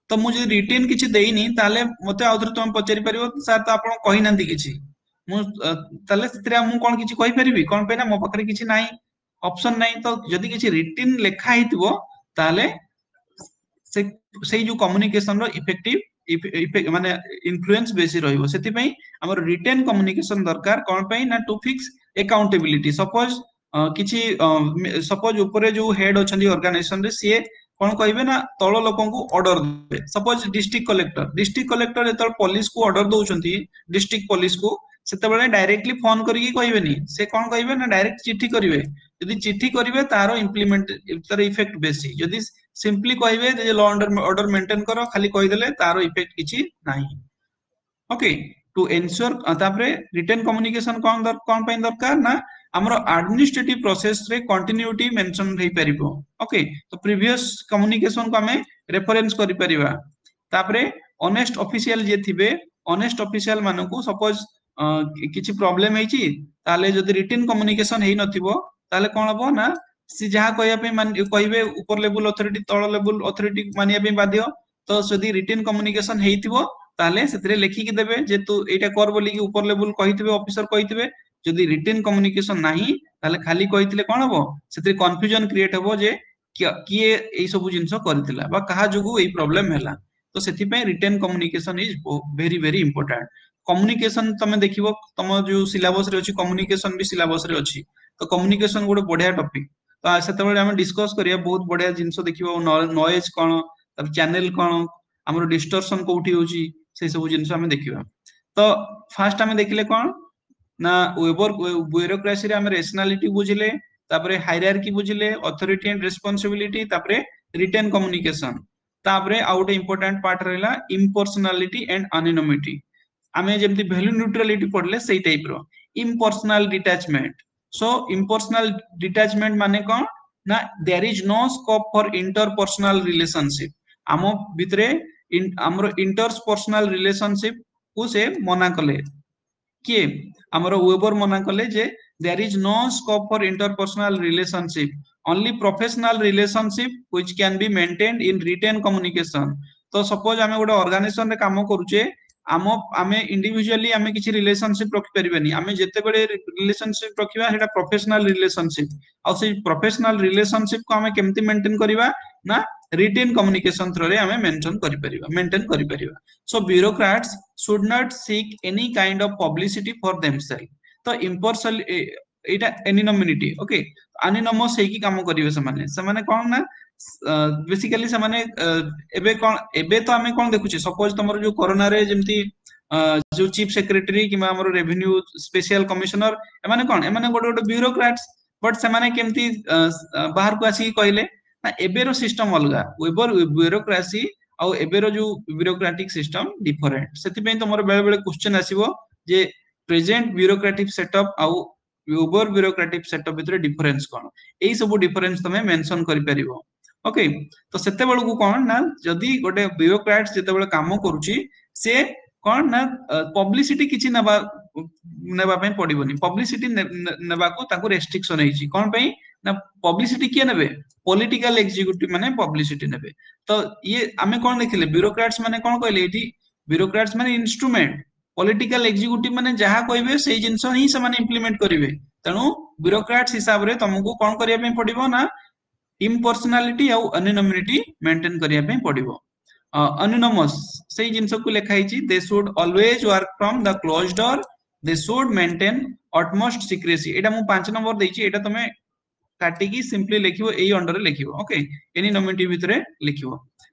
ତ ମୁଁ ଯଦି ରିଟେନ୍ କିଛି ଦେଇନି ତାହେଲେ ମତେ ଆଉଥରେ ତମେ ପଚାରି ପାରିବ ସାର୍ ତ ଆପଣ କହିନାହାନ୍ତି କିଛି ମୁଁ ତାହେଲେ ସେଥିରେ ମୁଁ କଣ କିଛି କହିପାରିବି କଣ ପାଇଁ ନା ମୋ ପାଖରେ କିଛି ନାହିଁ ଅପସନ ନାହିଁ ତ ଯଦି କିଛି ରିଟେନ୍ ଲେଖା ହେଇଥିବ ତାହେଲେ ସେ ସେଇ ଯୋଉ କମ୍ୟୁନିକେସନ ର ଇଫେକ୍ଟିଭ ମାନେ ଇନଫ୍ଲୁଏନ୍ସ ବେଶୀ ରହିବ ସେଥିପାଇଁ ଆମର ରିଟେନ୍ କମ୍ୟୁନିକେସନ ଦରକାର କଣ ପାଇଁ ନା ଟୁ ଫିକ୍ସ ଏକାଉଣ୍ଟେବିଲିଟି ସପୋଜ କିଛି ସପୋଜ ଉପରେ ଯୋଉ ହେଡ ଅଛନ୍ତି ଅର୍ଗାନାଇଜେସନ ରେ ସିଏ କଣ କହିବେ ନା ତଳ ଲୋକଙ୍କୁ ଅର୍ଡର ଦେବେ suppose district collector district collector ଯେତେବେଳେ ପୋଲିସକୁ ଅର୍ଡର ଦଉଛନ୍ତି ଡିଷ୍ଟ୍ରିକ୍ଟ ପୋଲିସକୁ ସେତେବେଳେ ଡାଇରେକ୍ଟଲି ଫୋନ କରିକି କହିବେନି ସେ କଣ କହିବେ ନା ଡାଇରେକ୍ଟ ଚିଠି କରିବେ ଯଦି ଚିଠି କରିବେ ତାର ଇମ୍ପ୍ଲିମେଣ୍ଟ ତାର ଇଫେକ୍ଟ ବେଶୀ ଯଦି ସିମ୍ପଲି କହିବେ ଯେ ଲ ଅର୍ଡର ମେଣ୍ଟେନ କର ଖାଲି କହିଦେଲେ ତାର ଇଫେକ୍ଟ କିଛି ନାହିଁ ଓକେ ଟୁ ଏନସ୍યોର ତାପରେ ରିଟେନ୍ କମ୍ୟୁନିକେସନ କଣ କଣ ପାଇଁ ଦରକାର ନା ଆମର ଆଡମିନିଷ୍ଟ୍ରେଟିଭ ପ୍ରୋସେସ ରେ କଣ୍ଟିନ୍ୟୁଟି ମେନସନ ହେଇପାରିବ ଓକେ ତ ପ୍ରିଭିୟସ କମ୍ୟୁନିକେସନ କୁ ଆମେ ରେଫରେନ୍ସ କରିପାରିବା ତାପରେ ଅନେଷ୍ଟ ଅଫିସିଆଲ ଯିଏ ଥିବେ ଅନେଷ୍ଟ ଅଫିସିଆଲ ମାନଙ୍କୁ ସପୋଜ କିଛି ପ୍ରୋବ୍ଲେମ ହେଇଛି ତାହେଲେ ଯଦି ରିଟେନ୍ କମ୍ୟୁନିକେସନ ହେଇନଥିବ ତାହେଲେ କଣ ହବ ନା ସେ ଯାହା କହିବା ପାଇଁ କହିବେ ଉପର ଲେବୁଲ ଅଥରିଟି ତଳ ଲେବୁଲ ଅଥରିଟି ମାନିବା ପାଇଁ ବାଧ୍ୟ ତ ଯଦି ରିଟେନ୍ କମ୍ୟୁନିକେସନ ହେଇଥିବ ତାହେଲେ ସେଥିରେ ଲେଖିକି ଦେବେ ଯେ ତୁ ଏଇଟା କର ବୋଲିକି ଉପର ଲେବୁଲ କହିଥିବେ ଅଫିସର କହିଥିବେ ଯଦି ରିଟେନ୍ କମ୍ୟୁନିକେସନ ନାହିଁ ତାହେଲେ ଖାଲି କହିଥିଲେ କଣ ହବ ସେଥିରେ କନଫ୍ୟୁଜନ କ୍ରିଏଟ ହବ ଯେ କିଏ ଏଇ ସବୁ ଜିନିଷ କରିଥିଲା ବା କାହା ଯୋଗୁ ଏଇ ପ୍ରୋବ୍ଲେମ ହେଲା ତ ସେଥିପାଇଁ written communication is very very important communication ତମେ ଦେଖିବ ତମ ଯୋଉ ସିଲାବସ ରେ ଅଛି କମ୍ୟୁନିକେସନ ବି ସିଲାବସ ରେ ଅଛି ତ କମ୍ୟୁନିକେସନ ଗୋଟେ ବଢିଆ ଟପିକ ତ ସେତେବେଳେ ଆମେ ଡିସ୍କସ କରିବା ବହୁତ ବଢିଆ ଜିନିଷ ଦେଖିବ ନଏଜ କଣ ତାପରେ ଚ୍ୟାନେଲ କଣ ଆମର ଡିଷ୍ଟର୍ସନ କୋଉଠି ହଉଛି ସେଇ ସବୁ ଜିନିଷ ଆମେ ଦେଖିବା ତ ଫାଷ୍ଟ ଆମେ ଦେଖିଲେ କଣ ନା ୱେବର ବ୍ୟୁରୋକ୍ରାସିରେ ଆମେ ରେସନାଲିଟି ବୁଝିଲେ ତାପରେ ହାଇରାର୍କି ବୁଝିଲେ ଅଥରିଟି ଆଣ୍ଡ ରେସ୍ପନ୍ସିବିଲିଟି ତାପରେ ରିଟେନ୍ କମ୍ୟୁନିକେସନ ତାପରେ ଆଉ ଗୋଟେ ଇମ୍ପୋର୍ଟାଣ୍ଟ ପାର୍ଟ ରହିଲା ଇମ୍ପର୍ସନାଲିଟି ଆଣ୍ଡ ଆନୋନିମିଟି ଆମେ ଯେମିତି ଭ୍ୟାଲୁ ନ୍ୟୁଟ୍ରାଲିଟି ପଢିଲେ ସେଇ ଟାଇପ ର ଇମ୍ପର୍ସନାଲ ଡିଟାଚମେଣ୍ଟ ସୋ ଇମ୍ପର୍ସନାଲ ଡିଟାଚମେଣ୍ଟ ମାନେ କଣ ନା there is no scope for interpersonal relationship ଆମ ଭିତରେ ଆମର ଇଣ୍ଟରପର୍ସନାଲ ରିଲେସନସିପ କୁ ସେ ମନା କଲେ କିଏ ଆମର ୱେବର ମନା କଲେ ଯେ there is no scope for interpersonal relationship only professional relationship which can be maintained in written communication ତ ସପୋଜ ଆମେ ଗୋଟେ ଅର୍ଗାନାଇଜେସନ ରେ କାମ କରୁଛେ ଆମ ଆମେ ଇଣ୍ଡିଭିଜୁଆଲି ଆମେ କିଛି ରିଲେସନସିପ ରଖିପାରିବାନି ଆମେ ଯେତେବେଳେ ରିଲେସନସିପ ରଖିବା ସେଇଟା ପ୍ରଫେସନାଲ ରିଲେସନସିପ ଆଉ ସେଇ ପ୍ରଫେସନାଲ ରିଲେସନସିପ କୁ ଆମେ କେମିତି ମେଣ୍ଟେନ କରିବା ନା ରିଟେନ୍ କମ୍ୟୁନିକେସନ ଥ୍ରୋରେ ଆମେ ମେନସନ କରିପାରିବା ମେଣ୍ଟେନ କରିପାରିବା so bureaucrats should not seek any kind of publicity for themselves ତ ଇମ୍ପର୍ସନାଲ ଏଇଟା ଏନିନମିନିଟି ଓକେ ଆନିନମସ୍ ହେଇକି କାମ କରିବେ ସେମାନେ ସେମାନେ କଣ ନା ବେସିକାଲି ସେମାନେ ଏବେ କଣ ଏବେ ତ ଆମେ କଣ ଦେଖୁଛେ ସପୋଜ ତମର ଯୋଉ କରୋନାରେ ଯେମିତି ଯୋଉ ଚିଫ ସେକ୍ରେଟାରୀ କିମ୍ବା ଆମର ରେଭିନ୍ୟୁ ସ୍ପେଶିଆଲ କମିଶନର ଏମାନେ କଣ ଏମାନେ ଗୋଟେ ଗୋଟେ ବ୍ୟୁରୋକ୍ରାଟ୍ସ ବଟ ସେମାନେ କେମିତି ବାହାରକୁ ଆସିକି କହିଲେ ନା ଏବେର ସିଷ୍ଟମ ଅଲଗା ୱେବର ବ୍ୟୁରୋକ୍ରାସି ଆଉ ଏବେର ଯୋଉ ବ୍ୟୁରୋକ୍ରାଟିକ ସିଷ୍ଟମ ଡିଫରେଣ୍ଟ ସେଥିପାଇଁ ତମର ବେଳେ ବେଳେ କ୍ୱେଶ୍ଚନ ଆସିବ ଯେ ପ୍ରେଜେଣ୍ଟ ବ୍ୟୁରୋକ୍ରାଟିକ ସେଟଅପ୍ ଆଉ ୱେବର ବ୍ୟୁରୋକ୍ରାଟିକ ସେଟଅପ୍ ଭିତରେ ଡିଫରେନ୍ସ କଣ ଏଇ ସବୁ ଡିଫରେନ୍ସ ତମେ ମେନସନ କରିପାରିବ ଓକେ ତ ସେତେବେଳକୁ କଣ ନା ଯଦି ଗୋଟେ ବ୍ୟୁରୋକ୍ରାଟ ଯେତେବେଳେ କାମ କରୁଛି ସେ କଣ ନା ପବ୍ଲିସିଟି କିଛି ନେବା ନେବା ପାଇଁ ପଡିବନି ପବ୍ଲିସିଟି ନେବାକୁ ତାକୁ ରେଷ୍ଟ୍ରିକ୍ସନ ହେଇଛି କଣ ପାଇଁ ନା ପବ୍ଲିସିଟି କିଏ ନେବେ ପଲିଟିକାଲ ଏକ୍ଜିକ୍ୟୁଟିଭ ମାନେ ପବ୍ଲିସିଟି ନେବେ ତ ଇଏ ଆମେ କଣ ଦେଖିଲେ ବ୍ୟୁରୋକ୍ରାଟ୍ସ ମାନେ କଣ କହିଲେ ଏଇଠି ବ୍ୟୁରୋକ୍ରାଟ୍ସ ମାନେ ଇନଷ୍ଟ୍ରୁମେଣ୍ଟ ପଲିଟିକାଲ ଏକ୍ଜିକ୍ୟୁଟିଭ ମାନେ ଯାହା କହିବେ ସେଇ ଜିନିଷ ହିଁ ସେମାନେ ଇମ୍ପ୍ଲିମେଣ୍ଟ କରିବେ ତେଣୁ ବ୍ୟୁରୋକ୍ରାଟ୍ସ ହିସାବରେ ତମକୁ କଣ କରିବା ପାଇଁ ପଡିବ ନା ଇମ୍ପର୍ସନାଲିଟି ଆଉ ଆନୋନିମିଟି ମେଣ୍ଟେନ କରିବା ପାଇଁ ପଡିବ ଆନୋନିମସ୍ ସେଇ ଜିନିଷକୁ ଲେଖା ହେଇଛି they should always work from the closed door they should maintain utmost secrecy ଏଇଟା ମୁଁ ପାଞ୍ଚ ନମ୍ବର ଦେଇଛି ଏଇଟା ତମେ କାଟିକି ସିମ୍ପଲି ଲେଖିବ ଏଇ ଅଣ୍ଡରରେ ଲେଖିବ ଓକେ ଏନିନମିଟି ଭିତରେ ଲେଖିବ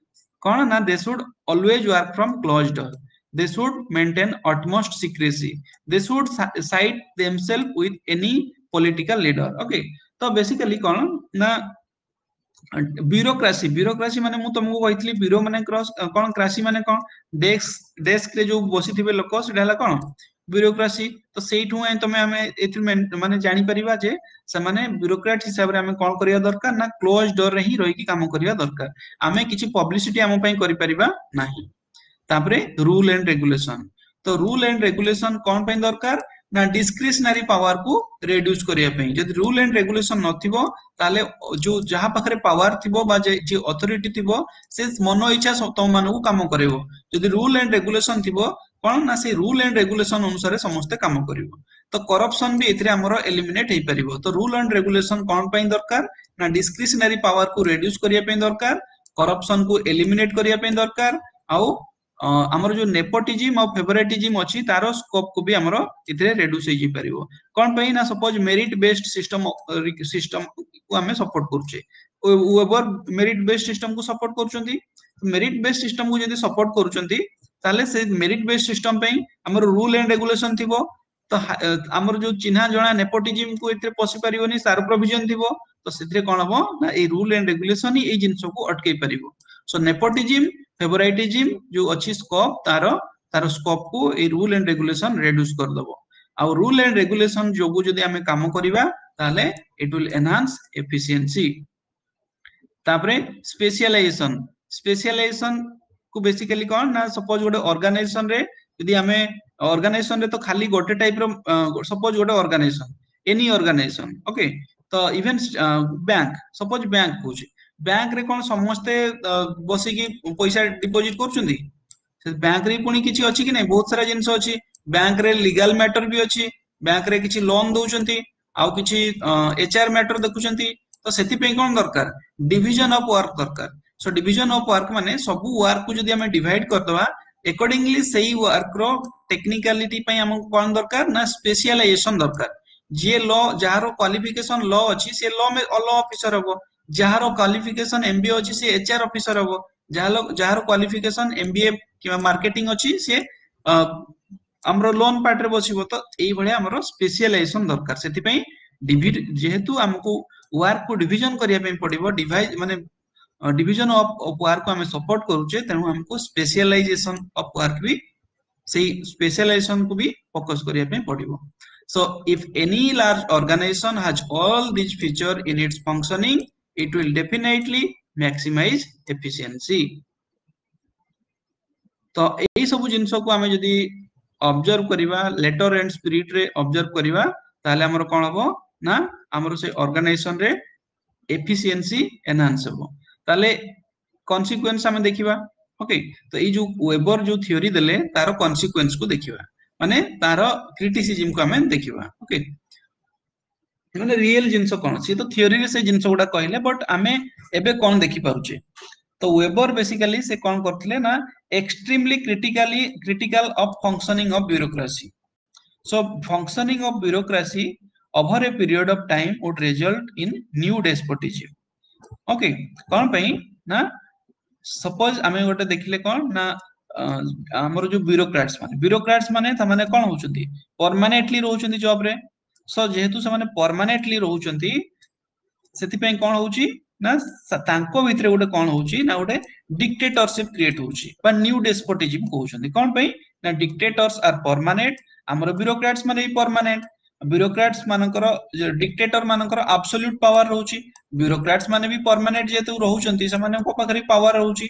କଣ ନା they should always work from closed door they should maintain utmost secrecy they should side themselves with any political leader okay ତ ବେସିକାଲି କଣ ନା ବ୍ୟୁରୋକ୍ରାସି ବ୍ୟୁରୋକ୍ରାସି ମାନେ ମୁଁ ତମକୁ କହିଥିଲି ବ୍ୟୁରୋ ମାନେ କ୍ରସ୍ କଣ କ୍ରାସି ମାନେ କଣ ଡେସ୍କ ଡେସ୍କ ରେ ଯୋଉ ବସିଥିବେ ଲୋକ ସେଟା ହେଲା କଣ ବ୍ୟୁରୋକ୍ରାସି ତ ସେଇଠୁ ହିଁ ତମେ ଆମେ ଏଥିରୁ ମାନେ ଜାଣିପାରିବା ଯେ ସେମାନେ ବ୍ୟୁରୋକ୍ରାଟ ହିସାବରେ ଆମେ କଣ କରିବା ଦରକାର ନା କ୍ଲୋଜ ଡୋର ରେ ହିଁ ରହିକି କାମ କରିବା ଦରକାର ଆମେ କିଛି ପବ୍ଲିସିଟି ଆମ ପାଇଁ କରିପାରିବା ନାହିଁ ତାପରେ ରୁଲ ଆଣ୍ଡ ରେଗୁଲେସନ ତ ରୁଲ ଆଣ୍ଡ ରେଗୁଲେସନ କଣ ପାଇଁ ଦରକାର ନା ଡିସ୍କ୍ରିସନାରୀ ପାୱାର କୁ ରେଡ୍ୟୁସ କରିବା ପାଇଁ ଯଦି ରୁଲ ଆଣ୍ଡ ରେଗୁଲେସନ ନଥିବ ତାହେଲେ ଯୋଉ ଯାହା ପାଖରେ ପାୱାର ଥିବ ବା ଯେ ଅଥରିଟି ଥିବ ସେ ମନ ଇଚ୍ଛା ତମ ମାନଙ୍କୁ କାମ କରିବ ଯଦି ରୁଲ ଆଣ୍ଡ ରେଗୁଲେସନ ଥିବ କଣ ନା ସେଇ ରୁଲ ଆଣ୍ଡ ରେଗୁଲେସନ ଅନୁସାରେ ସମସ୍ତେ କାମ କରିବ ତ କରପସନ ବି ଏଥିରେ ଆମର ଏଲିମିନେଟ ହେଇପାରିବ ତ ରୁଲ ଆଣ୍ଡ ରେଗୁଲେସନ କଣ ପାଇଁ ଦରକାର ନା ଡିସ୍କ୍ରିସନାରୀ ପାୱାର କୁ ରେଡ୍ୟୁସ କରିବା ପାଇଁ ଦରକାର କରପସନ କୁ ଏଲିମିନେଟ କରିବା ପାଇଁ ଦରକାର ଆଉ ଆମର ଯୋଉ ନେପୋଟିଜିମ ଆଉ ଫେଭରାଇଟିଜିମ ଅଛି ତାର ସ୍କୋପ କୁ ବି ଆମର ଏଥିରେ ରେଡ୍ୟୁସ ହେଇଯାଇପାରିବ କଣ ପାଇଁ ନା suppose merit based system system କୁ ଆମେ ସପୋର୍ଟ କରୁଛେ ୱେବର ମେରିଟ ବେସ୍ଡ ସିଷ୍ଟମ କୁ ସପୋର୍ଟ କରୁଛନ୍ତି ମେରିଟ ବେସ୍ଡ ସିଷ୍ଟମ କୁ ଯଦି ସପୋର୍ଟ କରୁଛନ୍ତି ତାହେଲେ ସେ ମେରିଟ ବେସ୍ଡ ସିଷ୍ଟମ ପାଇଁ ଆମର ରୁଲ ଆଣ୍ଡ ରେଗୁଲେସନ ଥିବ ତ ଆମର ଯୋଉ ଚିହ୍ନା ଜଣା ନେପୋଟିଜିମ କୁ ଏଥିରେ ପଶି ପାରିବନି ତାର ପ୍ରୋଭିଜନ ଥିବ ତ ସେଥିରେ କଣ ହବ ନା ଏଇ ରୁଲ ଆଣ୍ଡ ରେଗୁଲେସନ ହିଁ ଏଇ ଜିନିଷକୁ ଅଟକେଇ ପାରିବ ସୋ ନେପୋଟିଜିମ ଫେଭରାଇଟିଜିମ ଯୋଉ ଅଛି ସ୍କୋପ ତାର ତାର ସ୍କୋପ କୁ ଏଇ ରୁଲ ଆଣ୍ଡ ରେଗୁଲେସନ ରେଡ୍ୟୁସ କରିଦବ ଆଉ ରୁଲ ଆଣ୍ଡ ରେଗୁଲେସନ ଯୋଗୁ ଯଦି ଆମେ କାମ କରିବା ତାହେଲେ it will enhance efficiency ତାପରେ ସ୍ପେସିଆଲାଇଜେସନ ସ୍ପେସିଆଲାଇଜେସନ କୁ ବେସିକାଲି କଣ ନା ସପୋଜ ଗୋଟେ ଅର୍ଗାନାଇଜେସନ ରେ ଯଦି ଆମେ ଅର୍ଗାନାଇଜେସନ ରେ ତ ଖାଲି ଗୋଟେ ଟାଇପ ର ସପୋଜ ଗୋଟେ ଅର୍ଗାନାଇଜେସନ ଏନି ଅର୍ଗାନାଇଜେସନ ଓକେ ତ ଇଭେନ ବ୍ୟାଙ୍କ ସପୋଜ ବ୍ୟାଙ୍କ କହୁଛି ବ୍ୟାଙ୍କ ରେ କଣ ସମସ୍ତେ ବସିକି ପଇସା ଡିପୋଜିଟ କରୁଛନ୍ତି ସେ ବ୍ୟାଙ୍କ ରେ ପୁଣି କିଛି ଅଛି କି ନାଇଁ ବହୁତ ସାରା ଜିନିଷ ଅଛି ବ୍ୟାଙ୍କ ରେ ଲିଗାଲ ମ୍ୟାଟର ବି ଅଛି ବ୍ୟାଙ୍କ ରେ କିଛି ଲୋନ ଦଉଛନ୍ତି ଆଉ କିଛି ଏଚଆର ମ୍ୟାଟର ଦେଖୁଛନ୍ତି ତ ସେଥିପାଇଁ କଣ ଦରକାର ଡିଭିଜନ ଅଫ ୱାର୍କ ଦରକାର ସୋ ଡିଭିଜନ ଅଫ ୱାର୍କ ମାନେ ସବୁ ୱାର୍କ କୁ ଯଦି ଆମେ ଡିଭାଇଡ କରିଦବା ଏକର୍ଡିଙ୍ଗଲି ସେଇ ୱାର୍କ ର ଟେକ୍ନିକାଲିଟି ପାଇଁ ଆମକୁ କଣ ଦରକାର ନା ସ୍ପେସିଆଲାଇଜେସନ ଦରକାର ଯିଏ ଲ ଯାହାର କ୍ୱାଲିଫିକେସନ ଲ ଅଛି ସେ ଲ ଲ ଅଫିସର ହବ ଯାହାର କ୍ୱାଲିଫିକେସନ ଏମବିଏ ଅଛି ସେ ଏଚଆର ଅଫିସର ହବ ଯାହାର ଯାହାର କ୍ୱାଲିଫିକେସନ ଏମବିଏ କିମ୍ବା ମାର୍କେଟିଂ ଅଛି ସେ ଆମର ଲୋନ ପାର୍ଟରେ ବସିବ ତ ଏଇଭଳିଆ ଆମର ସ୍ପେସିଆଲାଇଜେସନ ଦରକାର ସେଥିପାଇଁ ଯେହେତୁ ଆମକୁ ୱାର୍କ କୁ ଡିଭିଜନ କରିବା ପାଇଁ ପଡିବ ଡିଭାଇଜ ମାନେ ଡିଭିଜନ ଅଫ ୱାର୍କ କୁ ଆମେ ସପୋର୍ଟ କରୁଛେ ତେଣୁ ଆମକୁ ସ୍ପେସିଆଲାଇଜେସନ ଅଫ ୱାର୍କ ବି ସେଇ ସ୍ପେସିଆଲାଇଜେସନ କୁ ବି ଫୋକସ କରିବା ପାଇଁ ପଡିବ So if any large organization has all these feature in its functioning, it will definitely maximize efficiency. ତ ଏଇ ସବୁ ଜିନିଷକୁ ଆମେ ଯଦି ଅବଜର୍ଭ କରିବା ଲେଟର ଆଣ୍ଡ ସ୍ପିରିଟ ରେ ଅବଜର୍ଭ କରିବା ତାହେଲେ ଆମର କଣ ହବ ନା ଆମର ସେ ଅର୍ଗାନାଇଜେସନ ରେ ଏଫିସିଏନ୍ସି ଏନହାନ୍ସ ହବ ତାହେଲେ କନସିକ୍ୱେନ୍ସ ଆମେ ଦେଖିବା ଓକେ ତ ଏଇ ଯୋଉ ୱେବର ଯୋଉ ଥିଓରି ଦେଲେ ତାର କନସିକ୍ୱେନ୍ସ କୁ ଦେଖିବା ମାନେ ତାର କ୍ରିଟିସିଜିମ କୁ ଆମେ ଦେଖିବା ଓକେ ମାନେ ରିଏଲ ଜିନିଷ କଣ ସିଏ ତ ଥିଓରିରେ ସେ ଜିନିଷ ଗୁଡା କହିଲେ ବଟ ଆମେ ଏବେ କଣ ଦେଖିପାରୁଛେ ତ ୱେବର ବେସିକାଲି ସେ କଣ କରିଥିଲେ ନା extremely critically critical of functioning of bureaucracy so functioning of bureaucracy over a period of time would result in new despotism okay କଣ ପାଇଁ ନା ସପୋଜ ଆମେ ଗୋଟେ ଦେଖିଲେ କଣ ନା ଆମର ଯୋଉ ବ୍ୟୁରୋକ୍ରାଟ୍ସ ମାନେ ବ୍ୟୁରୋକ୍ରାଟ୍ସ ମାନେ ସେମାନେ କଣ ହଉଛନ୍ତି ପରମାନେଣ୍ଟଲି ରହୁଛନ୍ତି ଜବ ରେ ସୋ ଯେହେତୁ ସେମାନେ ପରମାନେଣ୍ଟଲି ରହୁଛନ୍ତି ସେଥିପାଇଁ କଣ ହଉଛି ନା ତାଙ୍କ ଭିତରେ ଗୋଟେ କଣ ହଉଛି ନା ଗୋଟେ ଡିକ୍ଟେଟରସିପ କ୍ରିଏଟ ହଉଛି ବା ନ୍ୟୁ ଡେସ୍ପୋଟିଜିମ କହୁଛନ୍ତି କଣ ପାଇଁ ନା ଡିକ୍ଟେଟର୍ସ ଆର ପରମାନେଣ୍ଟ ଆମର ବ୍ୟୁରୋକ୍ରାଟ୍ସ ମାନେ ବି ପରମାନେଣ୍ଟ ବ୍ୟୁରୋକ୍ରାଟ୍ସ ମାନଙ୍କର ଡିକ୍ଟେଟର ମାନଙ୍କର ଆବସୋଲ୍ୟୁଟ ପାୱାର ରହୁଛି ବ୍ୟୁରୋକ୍ରାଟ୍ସ ମାନେ ବି ପରମାନେଣ୍ଟ ଯେହେତୁ ରହୁଛନ୍ତି ସେମାନଙ୍କ ପାଖରେ ପାୱାର ରହୁଛି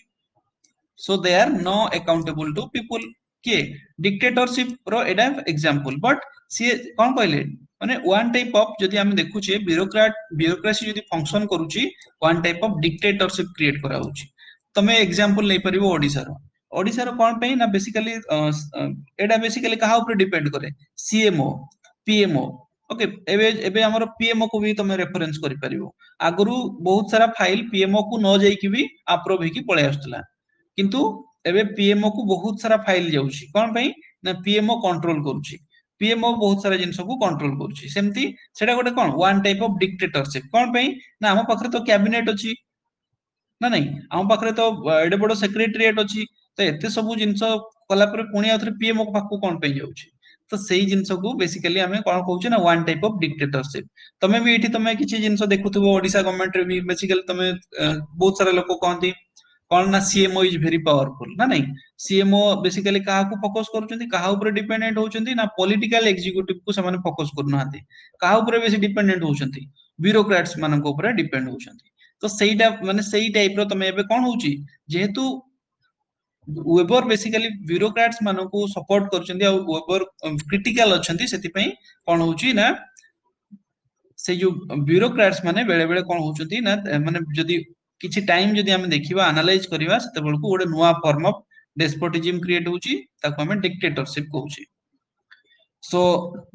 so they are no accountable to people କିଏ ଡିକ୍ଟେଟରସିପ ର ଏଇଟା ଏକ୍ସାମ୍ପଲ ବଟ ସିଏ କଣ କହିଲେ ମାନେ ୱାନ୍ ଟାଇପ ଅଫ ଯଦି ଆମେ ଦେଖୁଛେ ବ୍ୟୁରୋକ୍ରାଟ ବ୍ୟୁରୋକ୍ରାସି ଯଦି ଫଙ୍କସନ କରୁଛି one type of dictatorship create କରାହଉଛି ତମେ ଏକ୍ସାମ୍ପଲ ନେଇପାରିବ ଓଡିଶାର ଓଡିଶାର କଣ ପାଇଁ ନା ବେସିକାଲି ଏଇଟା ବେସିକାଲି କାହା ଉପରେ ଡିପେଣ୍ଡ କରେ ସିଏମଓ ପିଏମଓ ଓକେ ଏବେ ଏବେ ଆମର ପିଏମଓ କୁ ବି ତମେ ରେଫରେନ୍ସ କରିପାରିବ ଆଗରୁ ବହୁତ ସାରା ଫାଇଲ ପିଏମଓ କୁ ନ ଯାଇକି ବି ଆପ୍ରୁଭ ହେଇକି ପଳେଇ ଆସୁଥିଲା କିନ୍ତୁ ଏବେ ପିଏମଓ କୁ ବହୁତ ସାରା ଫାଇଲ ଯାଉଛି କଣ ପାଇଁ ନା ପିଏମଓ କଣ୍ଟ୍ରୋଲ କରୁଛି ପିଏମଓ ବହୁତ ସାରା ଜିନିଷକୁ କଣ୍ଟ୍ରୋଲ କରୁଛି ସେମିତି ସେଟା ଗୋଟେ କଣ ୱାନ୍ ଟାଇପ ଅଫ ଡିକ୍ଟେଟରସିପ କଣ ପାଇଁ ନା ଆମ ପାଖରେ ତ କ୍ୟାବିନେଟ ଅଛି ନା ନାଇଁ ଆମ ପାଖରେ ତ ଏଡେ ବଡ ସେକ୍ରେଟେରିଏଟ ଅଛି ତ ଏତେ ସବୁ ଜିନିଷ କଲା ପରେ ପୁଣି ଆଉଥରେ ପିଏମଓ ପାଖକୁ କଣ ପାଇଁ ଯାଉଛି ତ ସେଇ ଜିନିଷକୁ ବେସିକାଲି ଆମେ କଣ କହୁଛେ ନା ୱାନ୍ ଟାଇପ ଅଫ ଡିକ୍ଟେଟରସିପ ତମେ ବି ଏଇଠି ତମେ କିଛି ଜିନିଷ ଦେଖୁଥିବ ଓଡିଶା ଗଭର୍ଣମେଣ୍ଟରେ ବି ବେସିକାଲି ତମେ ବହୁତ ସାରା ଲୋକ କହନ୍ତି କଣ ନା ସିଏମଓ is very powerful ନା ନାଇଁ ସିଏମଓ ବେସିକାଲି କାହାକୁ ଫୋକସ କରୁଛନ୍ତି କାହା ଉପରେ ଡିପେଣ୍ଡେଣ୍ଟ ହଉଛନ୍ତି ନା ପଲିଟିକାଲ ଏକ୍ଜିକ୍ୟୁଟିଭ କୁ ସେମାନେ ଫୋକସ କରୁନାହାନ୍ତି କାହା ଉପରେ ବେଶୀ ଡିପେଣ୍ଡେଣ୍ଟ ହଉଛନ୍ତି ବ୍ୟୁରୋକ୍ରାଟ୍ସ ମାନଙ୍କ ଉପରେ ଡିପେଣ୍ଡ ହଉଛନ୍ତି ତ ସେଇଟା ମାନେ ସେଇ ଟାଇପ ର ତମେ ଏବେ କଣ ହଉଛି ଯେହେତୁ ୱେବର ବେସିକାଲି ବ୍ୟୁରୋକ୍ରାଟ୍ସ ମାନଙ୍କୁ ସପୋର୍ଟ କରୁଛନ୍ତି ଆଉ ୱେବର କ୍ରିଟିକାଲ ଅଛନ୍ତି ସେଥିପାଇଁ କଣ ହଉଛି ନା ସେଇ ଯୋଉ ବ୍ୟୁରୋକ୍ରାଟ୍ସ ମାନେ ବେଳେ ବେଳେ କଣ ହଉଛନ୍ତି ନା ମାନେ ଯଦି କିଛି ଟାଇମ ଯଦି ଆମେ ଦେଖିବା ଆନାଲାଇଜ କରିବା ସେତେବେଳକୁ ଗୋଟେ ନୂଆ ଫର୍ମ ଅଫ ଡେସ୍ପୋଟିଜିମ କ୍ରିଏଟ ହଉଛି ତାକୁ ଆମେ ଡିକ୍ଟେଟରସିପ କହୁଛେ ସୋ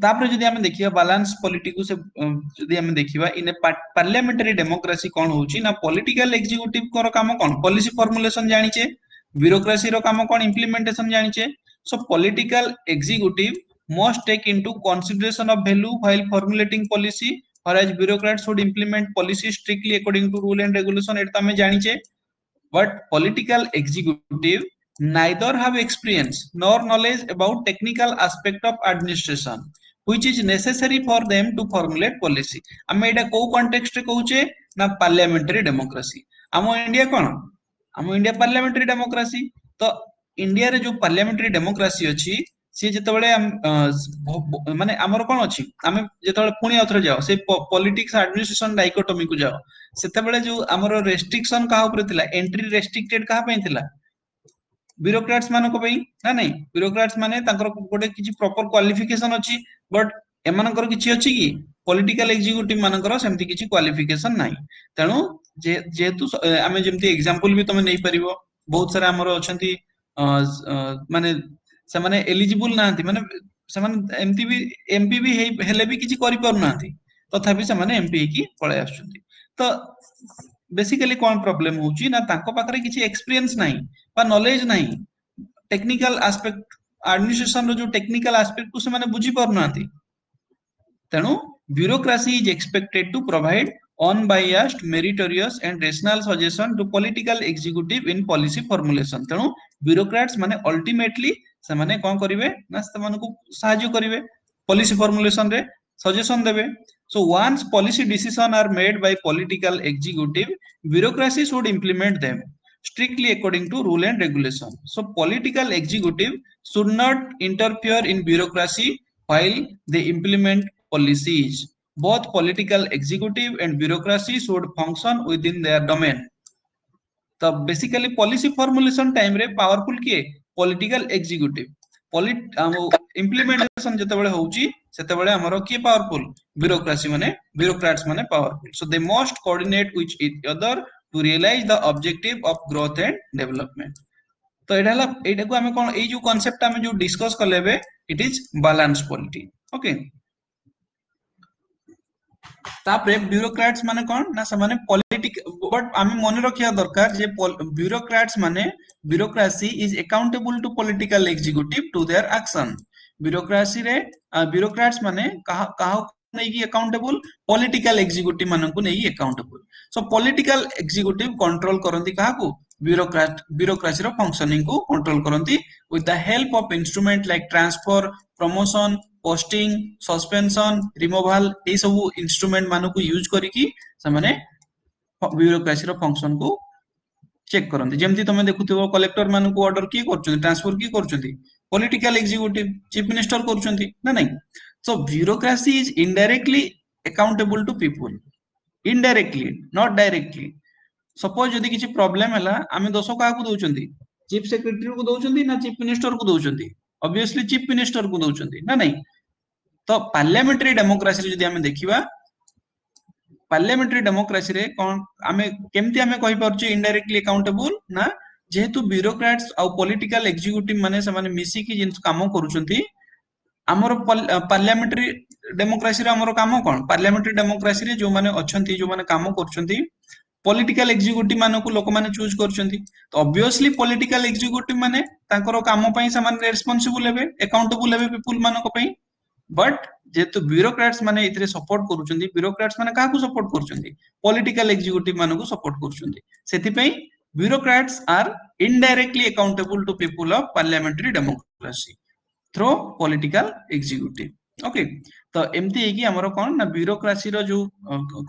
ତାପରେ ଯଦି ଆମେ ଦେଖିବା ବାଲାନ୍ସ ପଲିଟିକୁ ସେ ଯଦି ଆମେ ଦେଖିବା ଇନ ଏ ପାର୍ଲାମେଣ୍ଟାରୀ ଡେମୋକ୍ରାସି କଣ ହଉଛି ନା ପଲିଟିକାଲ ଏକ୍ଜିକ୍ୟୁଟିଭଙ୍କର କାମ କଣ ପଲିସି ଫର୍ମୁଲେସନ ଜାଣିଛେ ବ୍ୟୁରୋକ୍ରାସିର କାମ କଣ ଇମ୍ପ୍ଲିମେଣ୍ଟେସନ ଜାଣିଛେ so political executive must take into consideration of value while formulating policy whereas bureaucrats should implement policy strictly according to rule and regulation ଏଟା ତ ଆମେ ଜାଣିଛେ but political executive neither have experience nor knowledge about technical aspect of administration which is necessary for them to formulate policy ଆମେ ଏଇଟା କୋଉ context ରେ କହୁଛେ ନା ପାର୍ଲାମେଣ୍ଟାରୀ ଡେମୋକ୍ରାସି ଆମ ଇଣ୍ଡିଆ କଣ ଆମ ଇଣ୍ଡିଆ ପାର୍ଲାମେଣ୍ଟାରୀ ଡେମୋକ୍ରାସି ତ ଇଣ୍ଡିଆରେ ଯୋଉ ପାର୍ଲାମେଣ୍ଟାରୀ ଡେମୋକ୍ରାସି ଅଛି ସିଏ ଯେତେବେଳେ ମାନେ ଆମର କଣ ଅଛି ଆମେ ଯେତେବେଳେ ପୁଣି ଆଉଥରେ ଯାଅ ସେଇ ପଲିଟିକ୍ସ ଆଡମିନିଷ୍ଟ୍ରେସନ ଡାଇକୋଟୋମିକୁ ଯାଅ ସେତେବେଳେ ଯୋଉ ଆମର ରେଷ୍ଟ୍ରିକ୍ସନ କାହା ଉପରେ ଥିଲା ଏଣ୍ଟ୍ରି ରେଷ୍ଟ୍ରିକ୍ଟେଡ କାହା ପାଇଁ ଥିଲା ବ୍ୟୁରୋକ୍ରାଟ୍ସ ମାନଙ୍କ ପାଇଁ ନା ନାଇଁ ବ୍ୟୁରୋକ୍ରାଟ୍ସ ମାନେ ତାଙ୍କର ଗୋଟେ କିଛି ପ୍ରପର କ୍ୱାଲିଫିକେସନ ଅଛି ବଟ ଏମାନଙ୍କର କିଛି ଅଛି କି ପଲିଟିକାଲ ଏକ୍ଜିକ୍ୟୁଟିଭ ମାନଙ୍କର ସେମିତି କିଛି କ୍ୱାଲିଫିକେସନ ନାହିଁ ତେଣୁ ଯେହେତୁ ଆମେ ଯେମିତି ଏକ୍ସାମ୍ପଲ ବି ତମେ ନେଇପାରିବ ବହୁତ ସାରା ଆମର ଅଛନ୍ତି ମାନେ ସେମାନେ ଏଲିଜିବୁଲ ନାହାନ୍ତି ମାନେ ସେମାନେ ଏମିତି ବି ଏମପି ବି ହେଲେ ବି କିଛି କରିପାରୁନାହାନ୍ତି ତଥାପି ସେମାନେ ଏମପି ହେଇକି ପଳେଇ ଆସୁଛନ୍ତି ତ ବେସିକାଲି କଣ ପ୍ରୋବ୍ଲେମ ହଉଛି ନା ତାଙ୍କ ପାଖରେ କିଛି ଏକ୍ସପିରିଏନ୍ସ ନାହିଁ ବା ନଲେଜ ନାହିଁ ଟେକ୍ନିକାଲ ଆସ୍ପେକ୍ଟ ଆଡମିନିଷ୍ଟ୍ରେସନ ର ଯୋଉ ଟେକ୍ନିକାଲ ଆସ୍ପେକ୍ଟ କୁ ସେମାନେ ବୁଝି ପାରୁନାହାନ୍ତି ତେଣୁ bureaucracy is expected to provide unbiased meritorious and rational suggestion to political executive in policy formulation ତେଣୁ ବ୍ୟୁରୋକ୍ରାଟ୍ସ ମାନେ ଅଲ୍ଟିମେଟଲି ସେମାନେ କଣ କରିବେ ନା ସେମାନଙ୍କୁ ସାହାଯ୍ୟ କରିବେ ପଲିସି ଫର୍ମୁଲେସନ ରେ ସଜେସନ ଦେବେ so once policy decision are made by political executive bureaucracy should implement them strictly according to rule and regulation so political executive should not interfere in bureaucracy while they implement policies both political executive and bureaucracy should function within their domain ତ basically policy formulation time ରେ powerful କିଏ political executive implementation ଯେତେବେଳେ ହଉଛି ସେତେବେଳେ ଆମର କିଏ powerful bureaucracy ମାନେ bureaucrats ମାନେ powerful so they must coordinate with each other to realize the objective of growth and development ତ ଏଇଟା ହେଲା ଏଇଟାକୁ ଆମେ କଣ ଏଇ ଯୋଉ କନସେପ୍ଟ ଆମେ ଯୋଉ ଡିସ୍କସ କଲେ ଏବେ it is balance polity okay ତାପରେ ବ୍ୟୁରୋକ୍ରାଟ୍ସ ମାନେ କଣ ନା ସେମାନେ ପଲିଟିକ ବଟ ଆମେ ମନେ ରଖିବା ଦରକାର ଯେ ବ୍ୟୁରୋକ୍ରାଟ୍ସ ମାନେ bureaucracy is accountable to political executive to their action ବ୍ୟୁରୋକ୍ରାସିରେ ବ୍ୟୁରୋକ୍ରାଟ୍ସ ମାନେ କାହା କାହାକୁ ନେଇକି ଆକାଉଣ୍ଟେବୁଲ ପଲିଟିକାଲ ଏକ୍ଜିକ୍ୟୁଟିଭ ମାନଙ୍କୁ ନେଇକି accountable so political executive control କରନ୍ତି କାହାକୁ ବ୍ୟୁରୋକ୍ରାଟ ବ୍ୟୁରୋକ୍ରାସିର ଫଙ୍କସନିଂ କୁ କଣ୍ଟ୍ରୋଲ କରନ୍ତି with the help of instrument like transfer promotion posting suspension removal ଏଇ ସବୁ ଇନଷ୍ଟ୍ରୁମେଣ୍ଟ ମାନଙ୍କୁ ୟୁଜ କରିକି ସେମାନେ ବ୍ୟୁରୋକ୍ରାସିର ଫଙ୍କସନ କୁ ଚେକ୍ କରନ୍ତି ଯେମିତି ତମେ ଦେଖୁଥିବ କଲେକ୍ଟର ମାନଙ୍କୁ ଅର୍ଡର କିଏ କରୁଛନ୍ତି ଟ୍ରାନ୍ସଫର କିଏ କରୁଛନ୍ତି ପଲିଟିକାଲ ଏକ୍ଜିକ୍ୟୁଟିଭ ଚିଫ ମିନିଷ୍ଟର କରୁଛନ୍ତି ନା ନାଇଁ so bureaucracy is indirectly accountable to people indirectly not directly suppose ଯଦି କିଛି ପ୍ରୋବ୍ଲେମ ହେଲା ଆମେ ଦୋଷ କାହାକୁ ଦଉଛନ୍ତି ଚିଫ ସେକ୍ରେଟାରୀ କୁ ଦଉଛନ୍ତି ନା ଚିଫ ମିନିଷ୍ଟର କୁ ଦଉଛନ୍ତି ଅବଭିୟସଲି ଚିଫ ମିନିଷ୍ଟର କୁ ଦଉଛନ୍ତି ନା ନାଇଁ ତ ପାର୍ଲାମେଣ୍ଟାରୀ ଡେମୋକ୍ରାସିରେ ଯଦି ଆମେ ଦେଖିବା ପାର୍ଲାମେଣ୍ଟାରୀ ଡେମୋକ୍ରାସିରେ କଣ ଆମେ କେମିତି ଆମେ କହିପାରୁଛେ ଇନଡାଇରେକ୍ଟଲି ଆକାଉଣ୍ଟେବୁଲ ନା ଯେହେତୁ ବ୍ୟୁରୋକ୍ରାଟ୍ସ ଆଉ ପଲିଟିକାଲ ଏକ୍ଜିକ୍ୟୁଟିଭ ମାନେ ସେମାନେ ମିଶିକି ଜିନିଷ କାମ କରୁଛନ୍ତି ଆମର ପାର୍ଲାମେଣ୍ଟାରୀ ଡେମୋକ୍ରାସିର ଆମର କାମ କଣ ପାର୍ଲାମେଣ୍ଟାରୀ ଡେମୋକ୍ରାସିରେ ଯୋଉମାନେ ଅଛନ୍ତି ଯୋଉମାନେ କାମ କରୁଛନ୍ତି ପଲିଟିକାଲ ଏକ୍ଜିକ୍ୟୁଟିଭ ମାନଙ୍କୁ ଲୋକମାନେ ଚୁଜ କରୁଛନ୍ତି ତ ଅବଭିୟସଲି ପଲିଟିକାଲ ଏକ୍ଜିକ୍ୟୁଟିଭ ମାନେ ତାଙ୍କର କାମ ପାଇଁ ସେମାନେ ରେସ୍ପନ୍ସିବୁଲ ହେବେ ଆକାଉଣ୍ଟେବୁଲ ହେବେ ପିପୁଲ ମାନଙ୍କ ପାଇଁ ବଟ୍ ଯେହେତୁ ବ୍ୟୁରୋକ୍ରାଟ୍ସ ମାନେ ଏଥିରେ ସପୋର୍ଟ କରୁଛନ୍ତି ବ୍ୟୁରୋକ୍ରାଟ୍ସ ମାନେ କାହାକୁ ସପୋର୍ଟ କରୁଛନ୍ତି ପଲିଟିକାଲ ଏକ୍ଜିକ୍ୟୁଟିଭ ମାନଙ୍କୁ ସପୋର୍ଟ କରୁଛନ୍ତି ସେଥିପାଇଁ bureaucrats are indirectly accountable to people of parliamentary democracy through political executive okay ତ ଏମିତି ହେଇକି ଆମର କଣ ନା ବ୍ୟୁରୋକ୍ରାସିର ଯୋଉ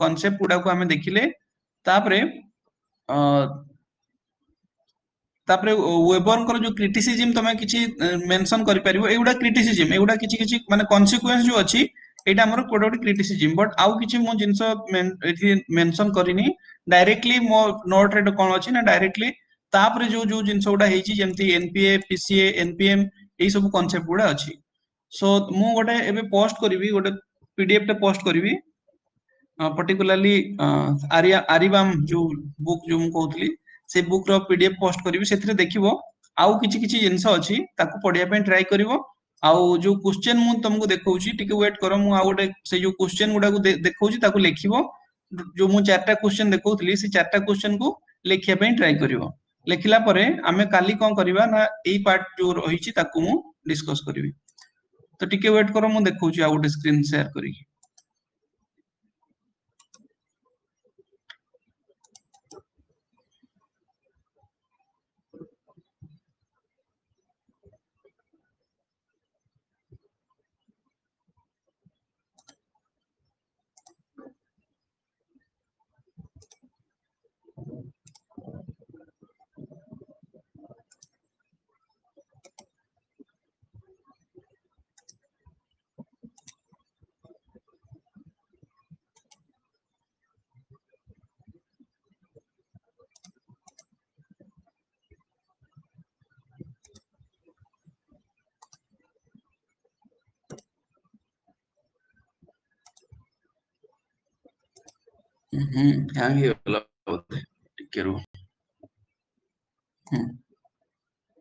କନସେପ୍ଟ ଗୁଡାକୁ ଆମେ ଦେଖିଲେ ତାପରେ ଅ ତାପରେ ୱେବରଙ୍କର ଯୋଉ କ୍ରିଟିସିଜିମ ତମେ କିଛି ମେନସନ କରିପାରିବ। ଏଇଗୁଡା କ୍ରିଟିସିଜିମ, ଏଇଗୁଡା କିଛି କିଛି ମାନେ କନସିକ୍ୱେନ୍ସ ଯୋଉ ଅଛି ଏଇଟା ଆମର ଗୋଟେ ଗୋଟେ କ୍ରିଟିସିଜିମ। ବଟ୍ ଆଉ କିଛି ମୁଁ ଜିନିଷ ଏଠି ମେନସନ କରିନି, ଡାଇରେକ୍ଟଲି ମୋ ନୋଟ ରେ କଣ ଅଛି ନା ଡାଇରେକ୍ଟଲି ତାପରେ ଯୋଉ ଯୋଉ ଜିନିଷ ଗୁଡା ହେଇଛି ଯେମିତି ଏନପିଏ, ପିସିଏ, ଏନପିଏମ ଏଇ ସବୁ କନସେପ୍ଟ ଗୁଡା ଅଛି। ସୋ ମୁଁ ଗୋଟେ ଏବେ ପୋଷ୍ଟ କରିବି, ଗୋଟେ ପିଡିଏଫ ଟେ ପୋଷ୍ଟ କରିବି, ପର୍ଟିକୁଲାରଲି ଆରିଆ ଆରିବାମ ଯୋଉ ବୁକ୍ ଯୋଉ ମୁଁ କହୁଥିଲି ସେ ବୁକ୍ ର ପିଡିଏଫ ପୋଷ୍ଟ କରିବି। ସେଥିରେ ଦେଖିବ ଆଉ କିଛି କିଛି ଜିନିଷ ଅଛି, ତାକୁ ପଢିବା ପାଇଁ ଟ୍ରାଏ କରିବ। ଆଉ ଯୋଉ କ୍ୱେଶ୍ଚନ ମୁଁ ତମକୁ ଦେଖଉଛି ଟିକେ ୱେଟ୍ କର, ମୁଁ ଆଉ ଗୋଟେ ସେ ଯୋଉ କ୍ୱେଶ୍ଚନ ଗୁଡାକୁ ଦେଖଉଛି ତାକୁ ଲେଖିବ। ଯୋଉ ମୁଁ ଚାରିଟା କ୍ୱେଶ୍ଚନ ଦେଖଉଥିଲି ସେ ଚାରିଟା କ୍ୱେଶ୍ଚନ କୁ ଲେଖିବା ପାଇଁ ଟ୍ରାଏ କରିବ। ଲେଖିଲା ପରେ ଆମେ କାଲି କଣ କରିବା ନା ଏଇ ପାର୍ଟ ଯୋଉ ରହିଛି ତାକୁ ମୁଁ ଡିସ୍କସ କରିବି। ତ ଟିକେ ୱେଟ୍ କର, ମୁଁ ଦେଖଉଛି ଆଉ ଗୋଟେ ସ୍କ୍ରିନ୍ ସେୟାର କରିକି। ହୁଁ ହ୍ୟାଙ୍ଗ ହେଇଗଲା ବୋଧେ, ଟିକେ ରୁହ। ହୁଁ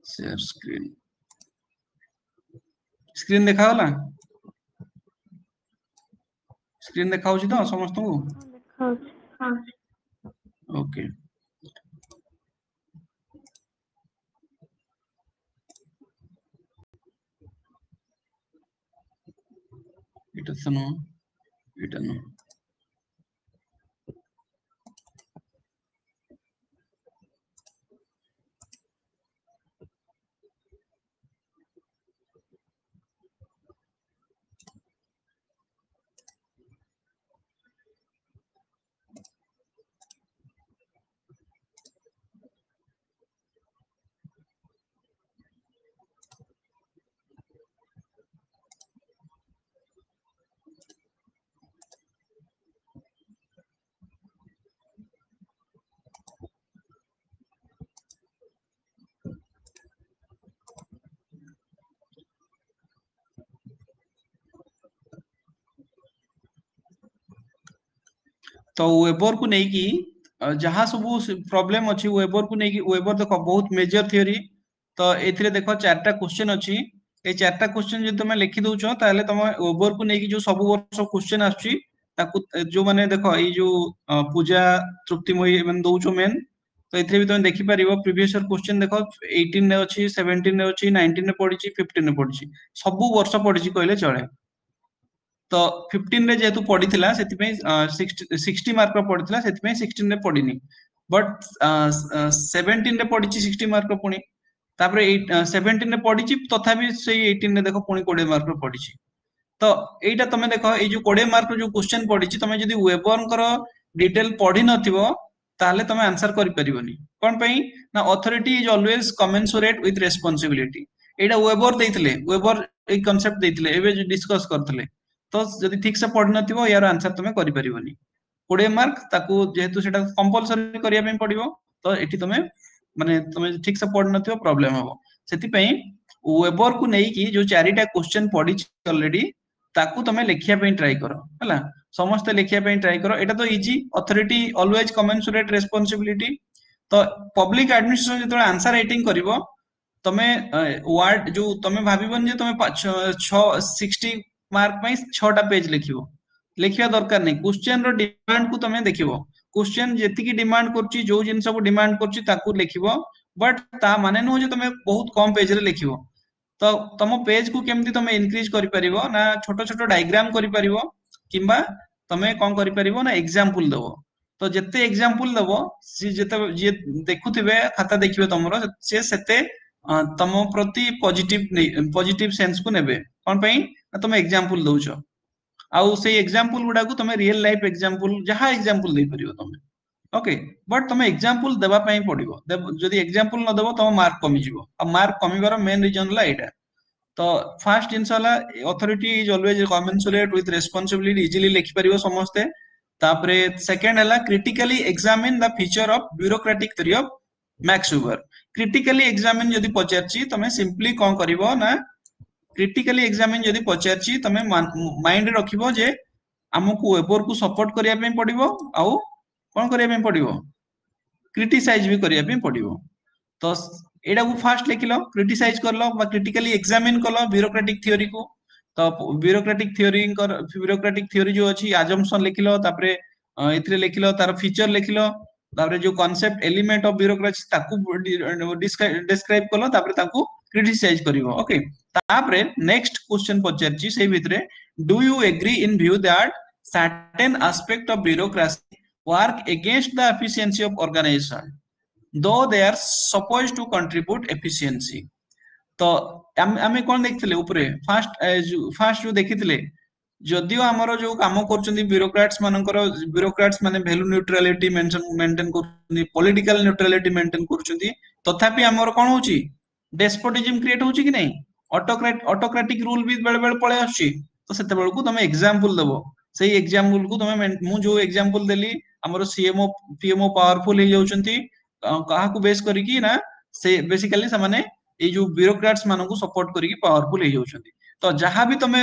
ସେୟାର ସ୍କ୍ରିନ୍, ସ୍କ୍ରିନ୍ ଦେଖାଗଲା? ସ୍କ୍ରିନ୍ ଦେଖାଉଛି ତ ସମସ୍ତଙ୍କୁ? ଦେଖାଉଛି। ଓକେ, ଏଇଟା ତ ନୁହଁ, ଏଇଟା ନୁହଁ। ତ ୱେବର କୁ ନେଇକି ଯାହା ସବୁ ପ୍ରୋବ୍ଲେମ ଅଛି ୱେବର କୁ ନେଇକି, ୱେବର ଦେଖ ବହୁତ ମେଜର ଥିଓରି। ତ ଏଥିରେ ଦେଖ ଚାରିଟା କ୍ୱେଶ୍ଚନ ଅଛି, ଏଇ ଚାରିଟା କ୍ୱେଶ୍ଚନ ଯଦି ତମେ ଲେଖି ଦଉଛ ତାହେଲେ ତମେ ୱେବର କୁ ନେଇକି ଯୋଉ ସବୁ ବର୍ଷ କ୍ୱେଶ୍ଚନ ଆସୁଛି ତାକୁ ଯୋଉମାନେ ଦେଖ ଏଇ ଯୋଉ ପୂଜା ତୃପ୍ତିମୟୀ ଏମାନେ ଦଉଛ ମେନ୍, ତ ଏଥିରେ ବି ତମେ ଦେଖିପାରିବ ପ୍ରିଭିୟସ ଇୟର କ୍ୱେଶ୍ଚନ ଦେଖ ଏଇଟିନ ରେ ଅଛି, ସେଭେଣ୍ଟିନ ରେ ଅଛି, ନାଇନଟିନ ରେ ପଡିଛି, ଫିଫ୍ଟିନ ରେ ପଡିଛି, ସବୁ ବର୍ଷ ପଡିଛି କହିଲେ ଚଳେ। ତ ଫିଫ୍ଟିନ ରେ ଯେହେତୁ ପଡିଥିଲା ସେଥିପାଇଁ ସିକ୍ସଟି ମାର୍କ ର ପଡିଥିଲା, ସେଥିପାଇଁ ସିକ୍ସଟିନ ରେ ପଡିନି, ବଟ୍ ସେଭେଣ୍ଟିନ ରେ ପଡିଛି ସିକ୍ସଟି ମାର୍କ ର ପୁଣି, ତାପରେ ସେଭେଣ୍ଟିନ ରେ ପଡିଛି ତଥାପି ସେଇ ଏଇଟିନ ରେ ଦେଖ ପୁଣି କୋଡିଏ ମାର୍କ ର ପଡିଛି। ତ ଏଇଟା ତମେ ଦେଖ ଏଇ ଯୋଉ କୋଡିଏ ମାର୍କ ର ଯୋଉ କ୍ୱେଶ୍ଚନ ପଡିଛି ତମେ ଯଦି ୱେବରଙ୍କର ଡିଟେଲ ପଢି ନଥିବ ତାହେଲେ ତମେ ଆନ୍ସର କରିପାରିବନି। କଣ ପାଇଁ ନା authority is always commensurate with responsibility. ଏଇଟା ୱେବର ଦେଇଥିଲେ, ୱେବର ଏଇ କନସେପ୍ଟ ଦେଇଥିଲେ ଏବେ ଯୋଉ ଡିସ୍କସ କରିଥିଲେ। ତ ଯଦି ଠିକ ସେ ପଢିନଥିବ ୟାର ଆନ୍ସର ତମେ କରିପାରିବନି। କୋଡିଏ ମାର୍କ ତାକୁ ଯେହେତୁ ସେଟା କମ୍ପଲସରି କରିବା ପାଇଁ ପଡିବ, ତ ଏଠି ତମେ ମାନେ ତମେ ଠିକ ସେ ପଢିନଥିବ ପ୍ରୋବ୍ଲେମ ହବ। ସେଥିପାଇଁ ୱେବର କୁ ନେଇକି ଯୋଉ ଚାରିଟା କ୍ୱେଶ୍ଚନ ପଡିଛି ଅଲରେଡି ତାକୁ ତମେ ଲେଖିବା ପାଇଁ ଟ୍ରାଏ କର, ହେଲା ସମସ୍ତେ ଲେଖିବା ପାଇଁ ଟ୍ରାଏ କର। ଏଇଟା ତ easy, authority always commensurate responsibility. ତ ପବ୍ଲିକ ଆଡମିନିଷ୍ଟ୍ରେସନ ଯେତେବେଳେ ଆନ୍ସର ରାଇଟିଂ କରିବ ତମେ ୱାର୍ଡ ଯୋଉ ତମେ ଭାବିବନି ଯେ ତମେ ଛଅ ସିକ୍ସଟି ମାର୍କ ପାଇଁ ଛଅଟା ପେଜ ଲେଖିବ, ଲେଖିବା ଦରକାର ନାହିଁ। କ୍ୱେଶ୍ଚନ ର ଡିମାଣ୍ଡ କୁ ତମେ ଦେଖିବ, କ୍ୱେଶ୍ଚନ ଯେତିକି ଡିମାଣ୍ଡ କରୁଛି ଯୋଉ ଜିନିଷକୁ ଡିମାଣ୍ଡ କରୁଛି ତାକୁ ଲେଖିବ, ବଟ୍ ତା ମାନେ ନୁହଁ ଯେ ତମେ ବହୁତ କମ ପେଜରେ ଲେଖିବ। ତ ତମ ପେଜ କୁ କେମିତି ତମେ ଇନକ୍ରିଜ କରିପାରିବ ନା ଛୋଟ ଛୋଟ ଡାଇଗ୍ରାମ କରିପାରିବ, କିମ୍ବା ତମେ କଣ କରିପାରିବ ନା ଏକ୍ସାମ୍ପଲ ଦବ। ତ ଯେତେ ଏକ୍ସାମ୍ପଲ ଦବ ସିଏ ଯେତେ ଯିଏ ଦେଖୁଥିବେ ଖାତା ଦେଖିବେ ତମର ସେ ସେତେ ତମ ପ୍ରତି ପଜିଟିଭ ପଜିଟିଭ ସେନ୍ସ କୁ ନେବେ। କଣ ପାଇଁ ନା ତମେ ଏକ୍ସାମ୍ପଲ ଦଉଛ, ଆଉ ସେଇ ଏକ୍ସାମ୍ପଲ ଗୁଡାକୁ ତମେ ରିଏଲ ଲାଇଫ ଏକ୍ସାମ୍ପଲ ଯାହା ଏକ୍ସାମ୍ପଲ ଦେଇପାରିବ ତମେ ଓକେ ବଟ୍ ତମେ ଏକ୍ସାମ୍ପଲ ଦେବା ପାଇଁ ପଡିବ ଯଦି ଏକ୍ସାମ୍ପଲ ନ ଦେବ ତମ ମାର୍କ କମିଯିବ ଆଉ ମାର୍କ କମିବାର ମେନ୍ ରିଜନ ହେଲା ଏଇଟା ତ ଫାର୍ଷ୍ଟ ଜିନିଷ ହେଲା authority is always commensurate with responsibility easily ଲେଖିପାରିବ ସମସ୍ତେ ତାପରେ ସେକେଣ୍ଡ ହେଲା critically examine the feature of bureaucratic theory of Max Weber critically examine ଯଦି ପଚାରିଛି ତମେ ସିମ୍ପଲି କଣ କରିବ ନା କ୍ରିଟିକାଲି ଏକ୍ସାମିନ ଯଦି ପଚାରିଛି ତମେ ମାଇଣ୍ଡରେ ରଖିବ ଯେ ଆମକୁ ୱେବର କୁ ସପୋର୍ଟ କରିବା ପାଇଁ ପଡିବ ଆଉ କଣ କରିବା ପାଇଁ ପଡିବ କ୍ରିଟିସାଇଜ ବି କରିବା ପାଇଁ ପଡିବ ତ ଏଇଟାକୁ ଫାର୍ଷ୍ଟ ଲେଖିଲ କ୍ରିଟିସାଇଜ କଲ ବା କ୍ରିଟିକାଲି ଏକ୍ସାମିନ କଲ ବ୍ୟୁରୋକ୍ରାଟିକ ଥିଓରିକୁ ତ ବ୍ୟୁରୋକ୍ରାଟିକ ଥିଓରିଙ୍କର ବ୍ୟୁରୋକ୍ରାଟିକ ଥିଓରି ଯୋଉ ଅଛି ଆଜମ୍ପସନ ଲେଖିଲ ତାପରେ ଏଥିରେ ଲେଖିଲ ତାର ଫିଚର ଲେଖିଲ ତାପରେ ଯୋଉ କନସେପ୍ଟ ଏଲିମେଣ୍ଟ ଅଫ ବ୍ୟୁରୋକ୍ରାସି ତାକୁ ଡେସ୍କ୍ରାଇବ କଲ ତାପରେ ତାକୁ କ୍ରିଟିସାଇଜ କରିବ ଓକେ ତାପରେ ନେକ୍ସଟ କ୍ୱେଶ୍ଚନ ପଚାରିଛି ସେଇ ଭିତରେ do you agree in view that certain aspect of bureaucracy work against the efficiency of organization though they are supposed to contribute efficiency ତ ଆମେ କଣ ଦେଖିଥିଲେ ଉପରେ ଫାଷ୍ଟ ଫାଷ୍ଟ ଯୋଉ ଦେଖିଥିଲେ ଯଦିଓ ଆମର ଯୋଉ କାମ କରୁଛନ୍ତି ବ୍ୟୁରୋକ୍ରାଟ୍ସ ମାନଙ୍କର ବ୍ୟୁରୋକ୍ରାଟ୍ସ ମାନେ ଭ୍ୟାଲୁ ନ୍ୟୁଟ୍ରାଲିଟି ମେଣ୍ଟେନ କରୁଛନ୍ତି ପଲିଟିକାଲ ନ୍ୟୁଟ୍ରାଲିଟି ମେଣ୍ଟେନ କରୁଛନ୍ତି ତଥାପି ଆମର କଣ ହଉଛି ଡେସ୍ପୋଟିଜିମ କ୍ରିଏଟ ହଉଛି କି ନାଇଁ ଅଟୋକ୍ରାଟ ଅଟୋକ୍ରାଟିକ ରୁଲ ବି ବେଳେ ବେଳେ ପଳେଇ ଆସୁଛି ତ ସେତେବେଳକୁ ତମେ ଏକ୍ସାମ୍ପଲ ଦବ ସେଇ ଏକ୍ସାମ୍ପଲ କୁ ତମେ ମୁଁ ଯୋଉ ଏକ୍ସାମ୍ପଲ ଦେଲି ଆମର ସିଏମଓ ପିଏମଓ ପାୱାରଫୁଲ ହେଇଯାଉଛନ୍ତି କାହାକୁ ବେସ୍ କରିକି ନା ସେ ବେସିକାଲି ସେମାନେ ଏଇ ଯୋଉ ବ୍ୟୁରୋକ୍ରାଟ୍ସ ମାନଙ୍କୁ ସପୋର୍ଟ କରିକି ପାୱାରଫୁଲ ହେଇଯାଉଛନ୍ତି ତ ଯାହା ବି ତମେ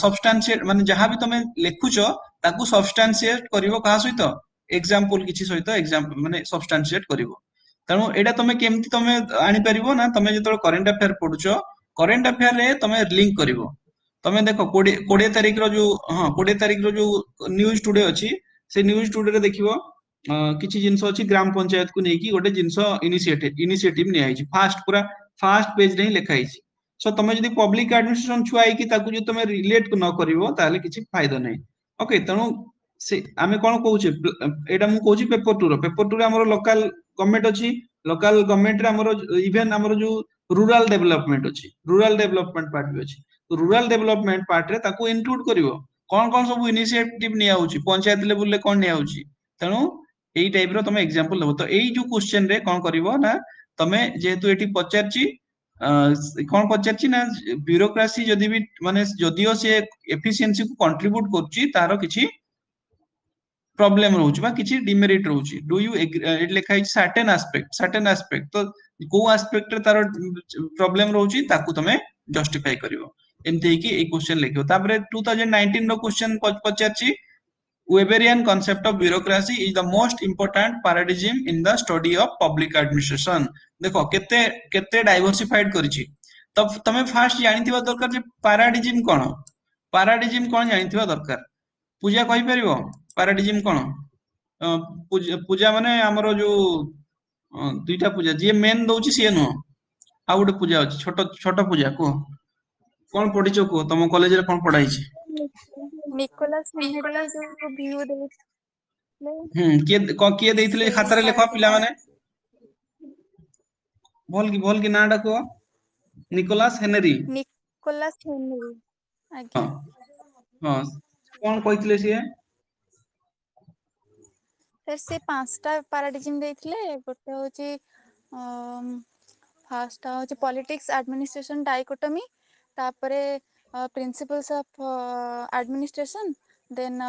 ସବଷ୍ଟାନ୍ସିଏଟ ମାନେ ଯାହା ବି ତମେ ଲେଖୁଛ ତାକୁ ସବଷ୍ଟାନ୍ସିଏଟ କରିବ କାହା ସହିତ ଏକ୍ସାମ୍ପଲ କିଛି ସହିତ ଏକ୍ସାମ୍ପଲ ମାନେ ସବଷ୍ଟାନ୍ସିଏଟ କରିବ ତେଣୁ ଏଇଟା ତମେ କେମିତି ତମେ ଆଣିପାରିବ ନା ତମେ ଯେତେବେଳେ କରେଣ୍ଟ ଆଫେୟାର ପଢୁଛ କରେଣ୍ଟ ଆଫେୟାର ରେ ତମେ ଲିଙ୍କ କରିବ ତମେ ଦେଖ କୋଡିଏ କୋଡିଏ ତାରିଖର ଯୋଉ ହଁ କୋଡିଏ ତାରିଖର ଯୋଉ ନ୍ୟୁଜ ଟୁଡେ ଅଛି ସେ ନ୍ୟୁଜ ଟୁଡେ ରେ ଦେଖିବ କିଛି ଜିନିଷ ଅଛି ଗ୍ରାମ ପଞ୍ଚାୟତକୁ ନେଇକି ଗୋଟେ ଜିନିଷ ଇନିସିଏଟିଭ ଇନିସିଏଟିଭ ନିଆହେଇଛି ଫାଷ୍ଟ ପୁରା ଫାଷ୍ଟ ପେଜ ରେ ହିଁ ଲେଖା ହେଇଛି ସୋ ତମେ ଯଦି ପବ୍ଲିକ ଆଡମିନିଷ୍ଟ୍ରେସନ ଛୁଆ ହେଇକି ତାକୁ ଯଦି ତମେ ରିଲେଟ ନ କରିବ ତାହେଲେ କିଛି ଫାଇଦା ନାହିଁ ଓକେ ତେଣୁ ସେ ଆମେ କଣ କହୁଛେ ଏଇଟା ମୁଁ କହୁଛି ପେପର ଟୁ ର ପେପର ଟୁ ରେ ଆମର ଲୋକାଲ ଗଭର୍ଣ୍ଣମେଣ୍ଟ ଅଛି ଲୋକାଲ ଗଭର୍ଣ୍ଣମେଣ୍ଟରେ ଆମର ଇଭେନ ଆମର ଯୋଉ ରୁରାଲ ଡେଭଲପମେଣ୍ଟ ଅଛି ରୁରାଲ ଡେଭଲପମେଣ୍ଟ ପାର୍ଟ ବି ଅଛି ରୁରାଲ ଡେଭଲପମେଣ୍ଟ ପାର୍ଟରେ ତାକୁ ଇନକ୍ଲୁଡ କରିବ କଣ କଣ ସବୁ ଇନିସିଏଟିଭ ନିଆହଉଛି ପଞ୍ଚାୟତ ଲେବୁଲରେ କଣ ନିଆହଉଛି ତେଣୁ ଏଇ ଟାଇପ ର ତମେ ଏକ୍ସାମ୍ପଲ ଦବ ତ ଏଇ ଯୋଉ କ୍ୱେଶ୍ଚନ ରେ କଣ କରିବ ନା ତମେ ଯେହେତୁ ଏଠି ପଚାରିଛି କଣ ପଚାରିଛି ନା ବ୍ୟୁରୋକ୍ରାସି ଯଦି ବି ମାନେ ଯଦିଓ ସେ ଏଫିସିଏନ୍ସି କୁ କଣ୍ଟ୍ରିବ୍ୟୁଟ କରୁଛି ତାର କିଛି ପ୍ରୋବ୍ଲେମ ରହୁଛି ବା କିଛି ଡିମେରିଟ ରହୁଛି do you ଏଠି ଲେଖା ହେଇଛି ସର୍ଟେନ ଆସ୍ପେକ୍ଟ ସର୍ଟେନ ଆସ୍ପେକ୍ଟ ତ କୋଉ ଆସ୍ପେକ୍ଟରେ ତାର ପ୍ରୋବ୍ଲେମ ରହୁଛି ତାକୁ ତମେ ଜଷ୍ଟିଫାଇ କରିବ ଏମିତି ହେଇକି ଏଇ କ୍ୱେଶ୍ଚନ ଲେଖିବ ତାପରେ ଟୁ ଥାଉଜେଣ୍ଡ ନାଇନଟିନ ର କ୍ୱେଶ୍ଚନ ପଚାରିଛି Weberian concept of bureaucracy is the most important paradigm in the study of public administration. ଦେଖ କେତେ କେତେ ଡାଇଭରସିଫାଇଡ କରିଛି ତ ତମେ ଫାଷ୍ଟ ଜାଣିଥିବା ଦରକାର ଯେ ପାରାଡିଜିମ କଣ ପାରାଡିଜିମ କଣ ଜାଣିଥିବା ଦରକାର ପୂଜା କହିପାରିବ ପାରାଡିଜିମ କଣ ପୂଜା ମାନେ ଆମର ଯୋଉ ଦୁଇଟା ପୂଜା ଯିଏ ମେନ୍ ଦଉଛି ସିଏ ନୁହଁ ଆଉ ଗୋଟେ ପୂଜା ଅଛି ଛୋଟ ଛୋଟ ପୂଜା କୁହ କଣ ପଢିଛ କୁହ ତମ କଲେଜରେ କଣ ପଢା ହେଇଛି ନିକୋଲାସ ହେନରି ଯୋଉ ଭ୍ୟୁ ଦେଇଥିଲେ ହୁଁ କିଏ କିଏ ଦେଇଥିଲେ ଖାତାରେ ଲେଖ ପିଲାମାନେ ଭଲ କି ଭଲ କି ନାଁ ଟା କୁହ ନିକୋଲାସ ହେନେରୀ ନିକୋଲାସ ହେନରି ଆଜ୍ଞା ହଁ କଣ କହିଥିଲେ ସିଏ ସାର୍ ସେ ପାଞ୍ଚଟା ପାରାଡିଜିମ ଦେଇଥିଲେ ଗୋଟେ ହଉଛି ଫାର୍ଷ୍ଟଟା ହଉଛି ପଲିଟିକ୍ସ ଆଡମିନିଷ୍ଟ୍ରେସନ ଡାଇକୋଟମି ତାପରେ principles of administration then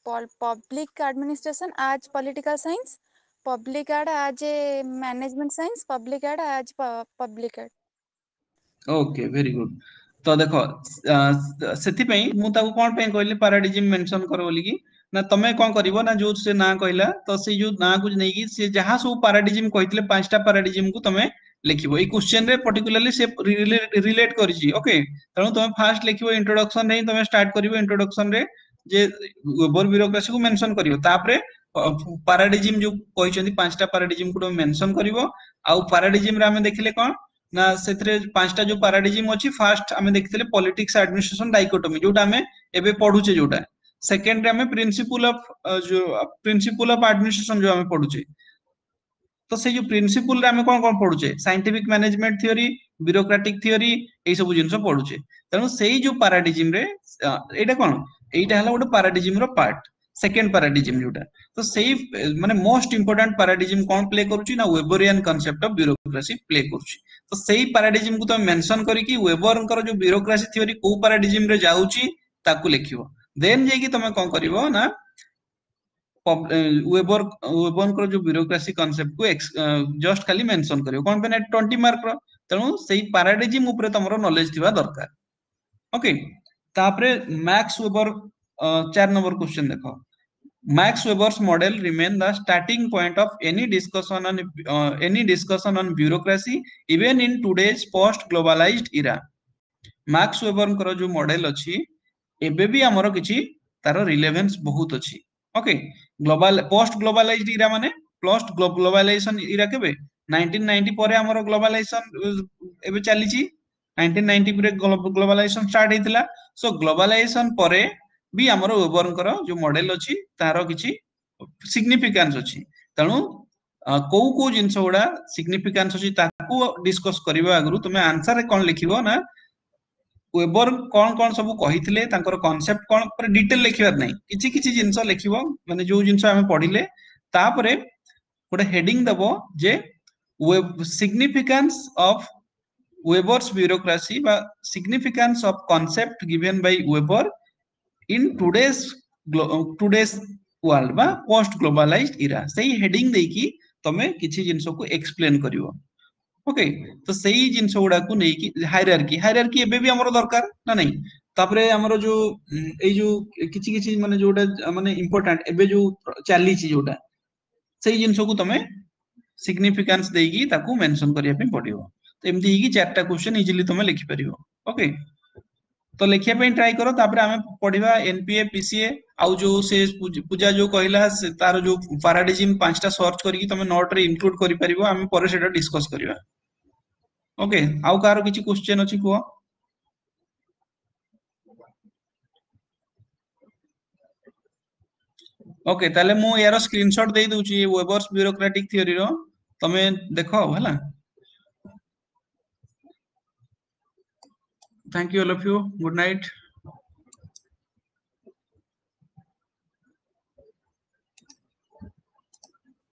public administration as political science public ad as a management science public ad as public ad okay very good ତ ଦେଖ ସେଥିପାଇଁ ମୁଁ ତାକୁ କଣ ପାଇଁ କହିଲି ପାରାଡିଜିମ ମେନସନ କର ବୋଲିକି ନା ତମେ କଣ କରିବ ନା ଯୋଉ ସେ ନାଁ କହିଲା ତ ସେଇ ଯୋଉ ନାଁକୁ ନେଇକି ସେ ଯାହା ସବୁ ପାରାଡିଜିମ କହିଥିଲେ ପାଞ୍ଚଟା ପାରାଡିଜିମ କୁ ତମେ ଲେଖିବ ଏଇ କ୍ୱେଶ୍ଚନ ରେ ପର୍ଟିକୁଲାରଲି ସେ ରିଲେଟ କରିଛି ଓକେ ତେଣୁ ତମେ ଫାଷ୍ଟ ଲେଖିବ ଇଣ୍ଟ୍ରୋଡକ୍ସନ ରେ ହିଁ ତମେ ଷ୍ଟାର୍ଟ କରିବ ଇଣ୍ଟ୍ରୋଡକ୍ସନ ରେ ଯେ ୱେବର ବ୍ୟୁରୋକ୍ରାସି କୁ ମେନସନ କରିବ ତାପରେ ପାରାଡିଜିମ ଯୋଉ କହିଛନ୍ତି ପାଞ୍ଚଟା ପାରାଡିଜିମ କୁ ତମେ ମେନସନ କରିବ ଆଉ ପାରାଡିଜିମ ରେ ଆମେ ଦେଖିଲେ କଣ ନା ସେଥିରେ ପାଞ୍ଚଟା ଯୋଉ ପାରାଡିଜିମ ଅଛି ଫାଷ୍ଟ ଆମେ ଦେଖିଥିଲେ ପଲିଟିକ୍ସ ଆଡମିନିଷ୍ଟ୍ରେସନ ଡାଇକୋଟୋମି ଯୋଉଟା ଆମେ ଏବେ ପଢୁଛେ ଯୋଉଟା ସେକେଣ୍ଡ ରେ ଆମେ ପ୍ରିନ୍ସିପୁଲ ଅଫ ଯୋଉ ପ୍ରିନ୍ସିପୁଲ ଅଫ ଆଡମିନିଷ୍ଟ୍ରେସନ ଯୋଉ ଆମେ ପଢୁଛେ ତ ସେଇ ଯୋଉ ପ୍ରିନ୍ସିପୁଲ ରେ ଆମେ କଣ କଣ ପଢୁଛେ scientific management theory bureaucratic theory ଏଇ ସବୁ ଜିନିଷ ପଢୁଛେ ତେଣୁ ସେଇ ଯୋଉ ପାରାଡିଜିମ ରେ ଏଇଟା କଣ ଏଇଟା ହେଲା ଗୋଟେ ପାରାଡିଜିମ ର ପାର୍ଟ ସେକେଣ୍ଡ ପାରାଡିଜିମ ଯୋଉଟା ତ ସେଇ ମାନେ ମୋଷ୍ଟ ଇମ୍ପୋର୍ଟାଣ୍ଟ ପାରାଡିଜିମ କଣ ପ୍ଲେ କରୁଛି ନା ୱେବରିଆନ କନସେପ୍ଟ ଅଫ ବ୍ୟୁରୋକ୍ରାସି ପ୍ଲେ କରୁଛି ତ ସେଇ ପାରାଡିଜିମ କୁ ତମେ ମେନସନ କରିକି ୱେବରଙ୍କର ଯୋଉ ବ୍ୟୁରୋକ୍ରାସି ଥିଓରି କୋଉ ପାରାଡିଜିମ ରେ ଯାଉଛି ତାକୁ ଲେଖିବ ଦେନ୍ ଯାଇକି ତମେ କଣ କରିବ ନା ୱେବର ୱେବରଙ୍କର ଯୋଉ ବ୍ୟୁରୋକ୍ରାସି କନସେପ୍ଟ କୁ ଜଷ୍ଟ ଖାଲି ମେନସନ କରିବ କଣ ପାଇଁ ନା ଟ୍ୱେଣ୍ଟି ମାର୍କ ର ତେଣୁ ସେଇ ପାରାଡିଜିମ ଉପରେ ତମର ନଲେଜ ଥିବା ଦରକାର ଓକେ ତାପରେ ମ୍ୟାକ୍ସ ୱେବର ଚାରି ନମ୍ବର କ୍ୱେଶ୍ଚନ ଦେଖ Max Weber's model remain the starting point of any discussion on uh, any discussion on bureaucracy even in today's post globalized era. Max ୱେବରଙ୍କର ଯୋଉ ମଡେଲ ଅଛି ଏବେ ବି ଆମର କିଛି ତାର ରିଲେଭେନ୍ସ ବହୁତ ଅଛି ଓକେ ଗ୍ଲୋବାଲ ପୋଷ୍ଟ ଗ୍ଲୋବାଲାଇଜଡ ଇରା ମାନେ ପୋଷ୍ଟ ଗ୍ଲୋବାଲାଇଜେସନ ଇରା କେବେ ନାଇନଟିନ ନାଇନଟି ପରେ ଆମର ଗ୍ଲୋବାଲାଇଜେସନ ଏବେ ଚାଲିଛି ନାଇନଟିନ ନାଇନଟି ପରେ ଗ୍ଲୋବାଲାଇଜେସନ ଷ୍ଟାର୍ଟ ହେଇଥିଲା ସୋ ଗ୍ଲୋବାଲାଇଜେସନ ପରେ ବି ଆମର ୱେବରଙ୍କର ଯୋଉ ମଡେଲ ଅଛି ତାର କିଛି ସିଗ୍ନିଫିକାନ୍ସ ଅଛି ତେଣୁ କୋଉ କୋଉ ଜିନିଷ ଗୁଡା ସିଗ୍ନିଫିକାନ୍ସ ଅଛି ତାକୁ ଡିସ୍କସ କରିବା ଆଗରୁ ତୁମେ ଆନ୍ସରରେ କଣ ଲେଖିବ ନା ୱେବର କଣ କଣ ସବୁ କହିଥିଲେ ତାଙ୍କର କନସେପ୍ଟ କଣ ପୁରା ଡିଟେଲ ଲେଖିବାର ନାହିଁ କିଛି କିଛି ଜିନିଷ ଲେଖିବ ମାନେ ଯୋଉ ଜିନିଷ ଆମେ ପଢିଲେ ତାପରେ ଗୋଟେ ହେଡିଂ ଦବ ଯେ ସିଗ୍ନିଫିକାନ୍ସ ଅଫ Weber's bureaucracy ବା significance of concept given by Weber in today's today's world ବା post globalized era ସେଇ ହେଡିଂ ଦେଇକି ତମେ କିଛି ଜିନିଷକୁ ଏକ୍ସପ୍ଲେନ କରିବ ଓକେ ତ ସେଇ ଜିନିଷ ଗୁଡାକୁ ନେଇକି ହାଇରାର୍କି ହାଇରାର୍କି ଏବେ ବି ଆମର ଦରକାର ନା ନାଇଁ ତାପରେ ଆମର ଯୋଉ ଏଇ ଯୋଉ କିଛି କିଛି ମାନେ ଯୋଉଟା ମାନେ ଇମ୍ପୋର୍ଟାଣ୍ଟ ଏବେ ଯୋଉ ଚାଲିଛି ଯୋଉଟା ସେଇ ଜିନିଷକୁ ତମେ ସିଗ୍ନିଫିକାନ୍ସ ଦେଇକି ତାକୁ ମେନସନ କରିବା ପାଇଁ ପଡିବ ତ ଏମିତି ହେଇକି ଚାରିଟା କ୍ୱେଶ୍ଚନ ଇଜିଲି ତମେ ଲେଖିପାରିବ ଓକେ ତ ଲେଖିବା ପାଇଁ ଟ୍ରାଏ କର ତାପରେ ଆମେ ପଢିବା ଏନପିଏ ପିସିଏ ଆଉ ଯୋଉ ସେ ପୂଜା ଯୋଉ କହିଲା ତାର ଯୋଉ ପାରାଡିଜିମ ପାଞ୍ଚଟା ସର୍ଚ୍ଚ କରିକି ତମେ ନୋଟ ରେ ଇନକ୍ଲୁଡ କରିପାରିବ ଆମେ ପରେ ସେଟା ଡିସ୍କସ କରିବା ଓକେ ଆଉ କାହାର କିଛି କ୍ୱେଶ୍ଚନ ଅଛି କୁହ ଓକେ ତାହେଲେ ମୁଁ ୟାର ସ୍କ୍ରିନଶଟ ଦେଇ ଦଉଛି ୱେବର୍ସ ବ୍ୟୁରୋକ୍ରାଟିକ ଥିଓରିର ତମେ ଦେଖ ହେଲା Thank you all of you. Good night.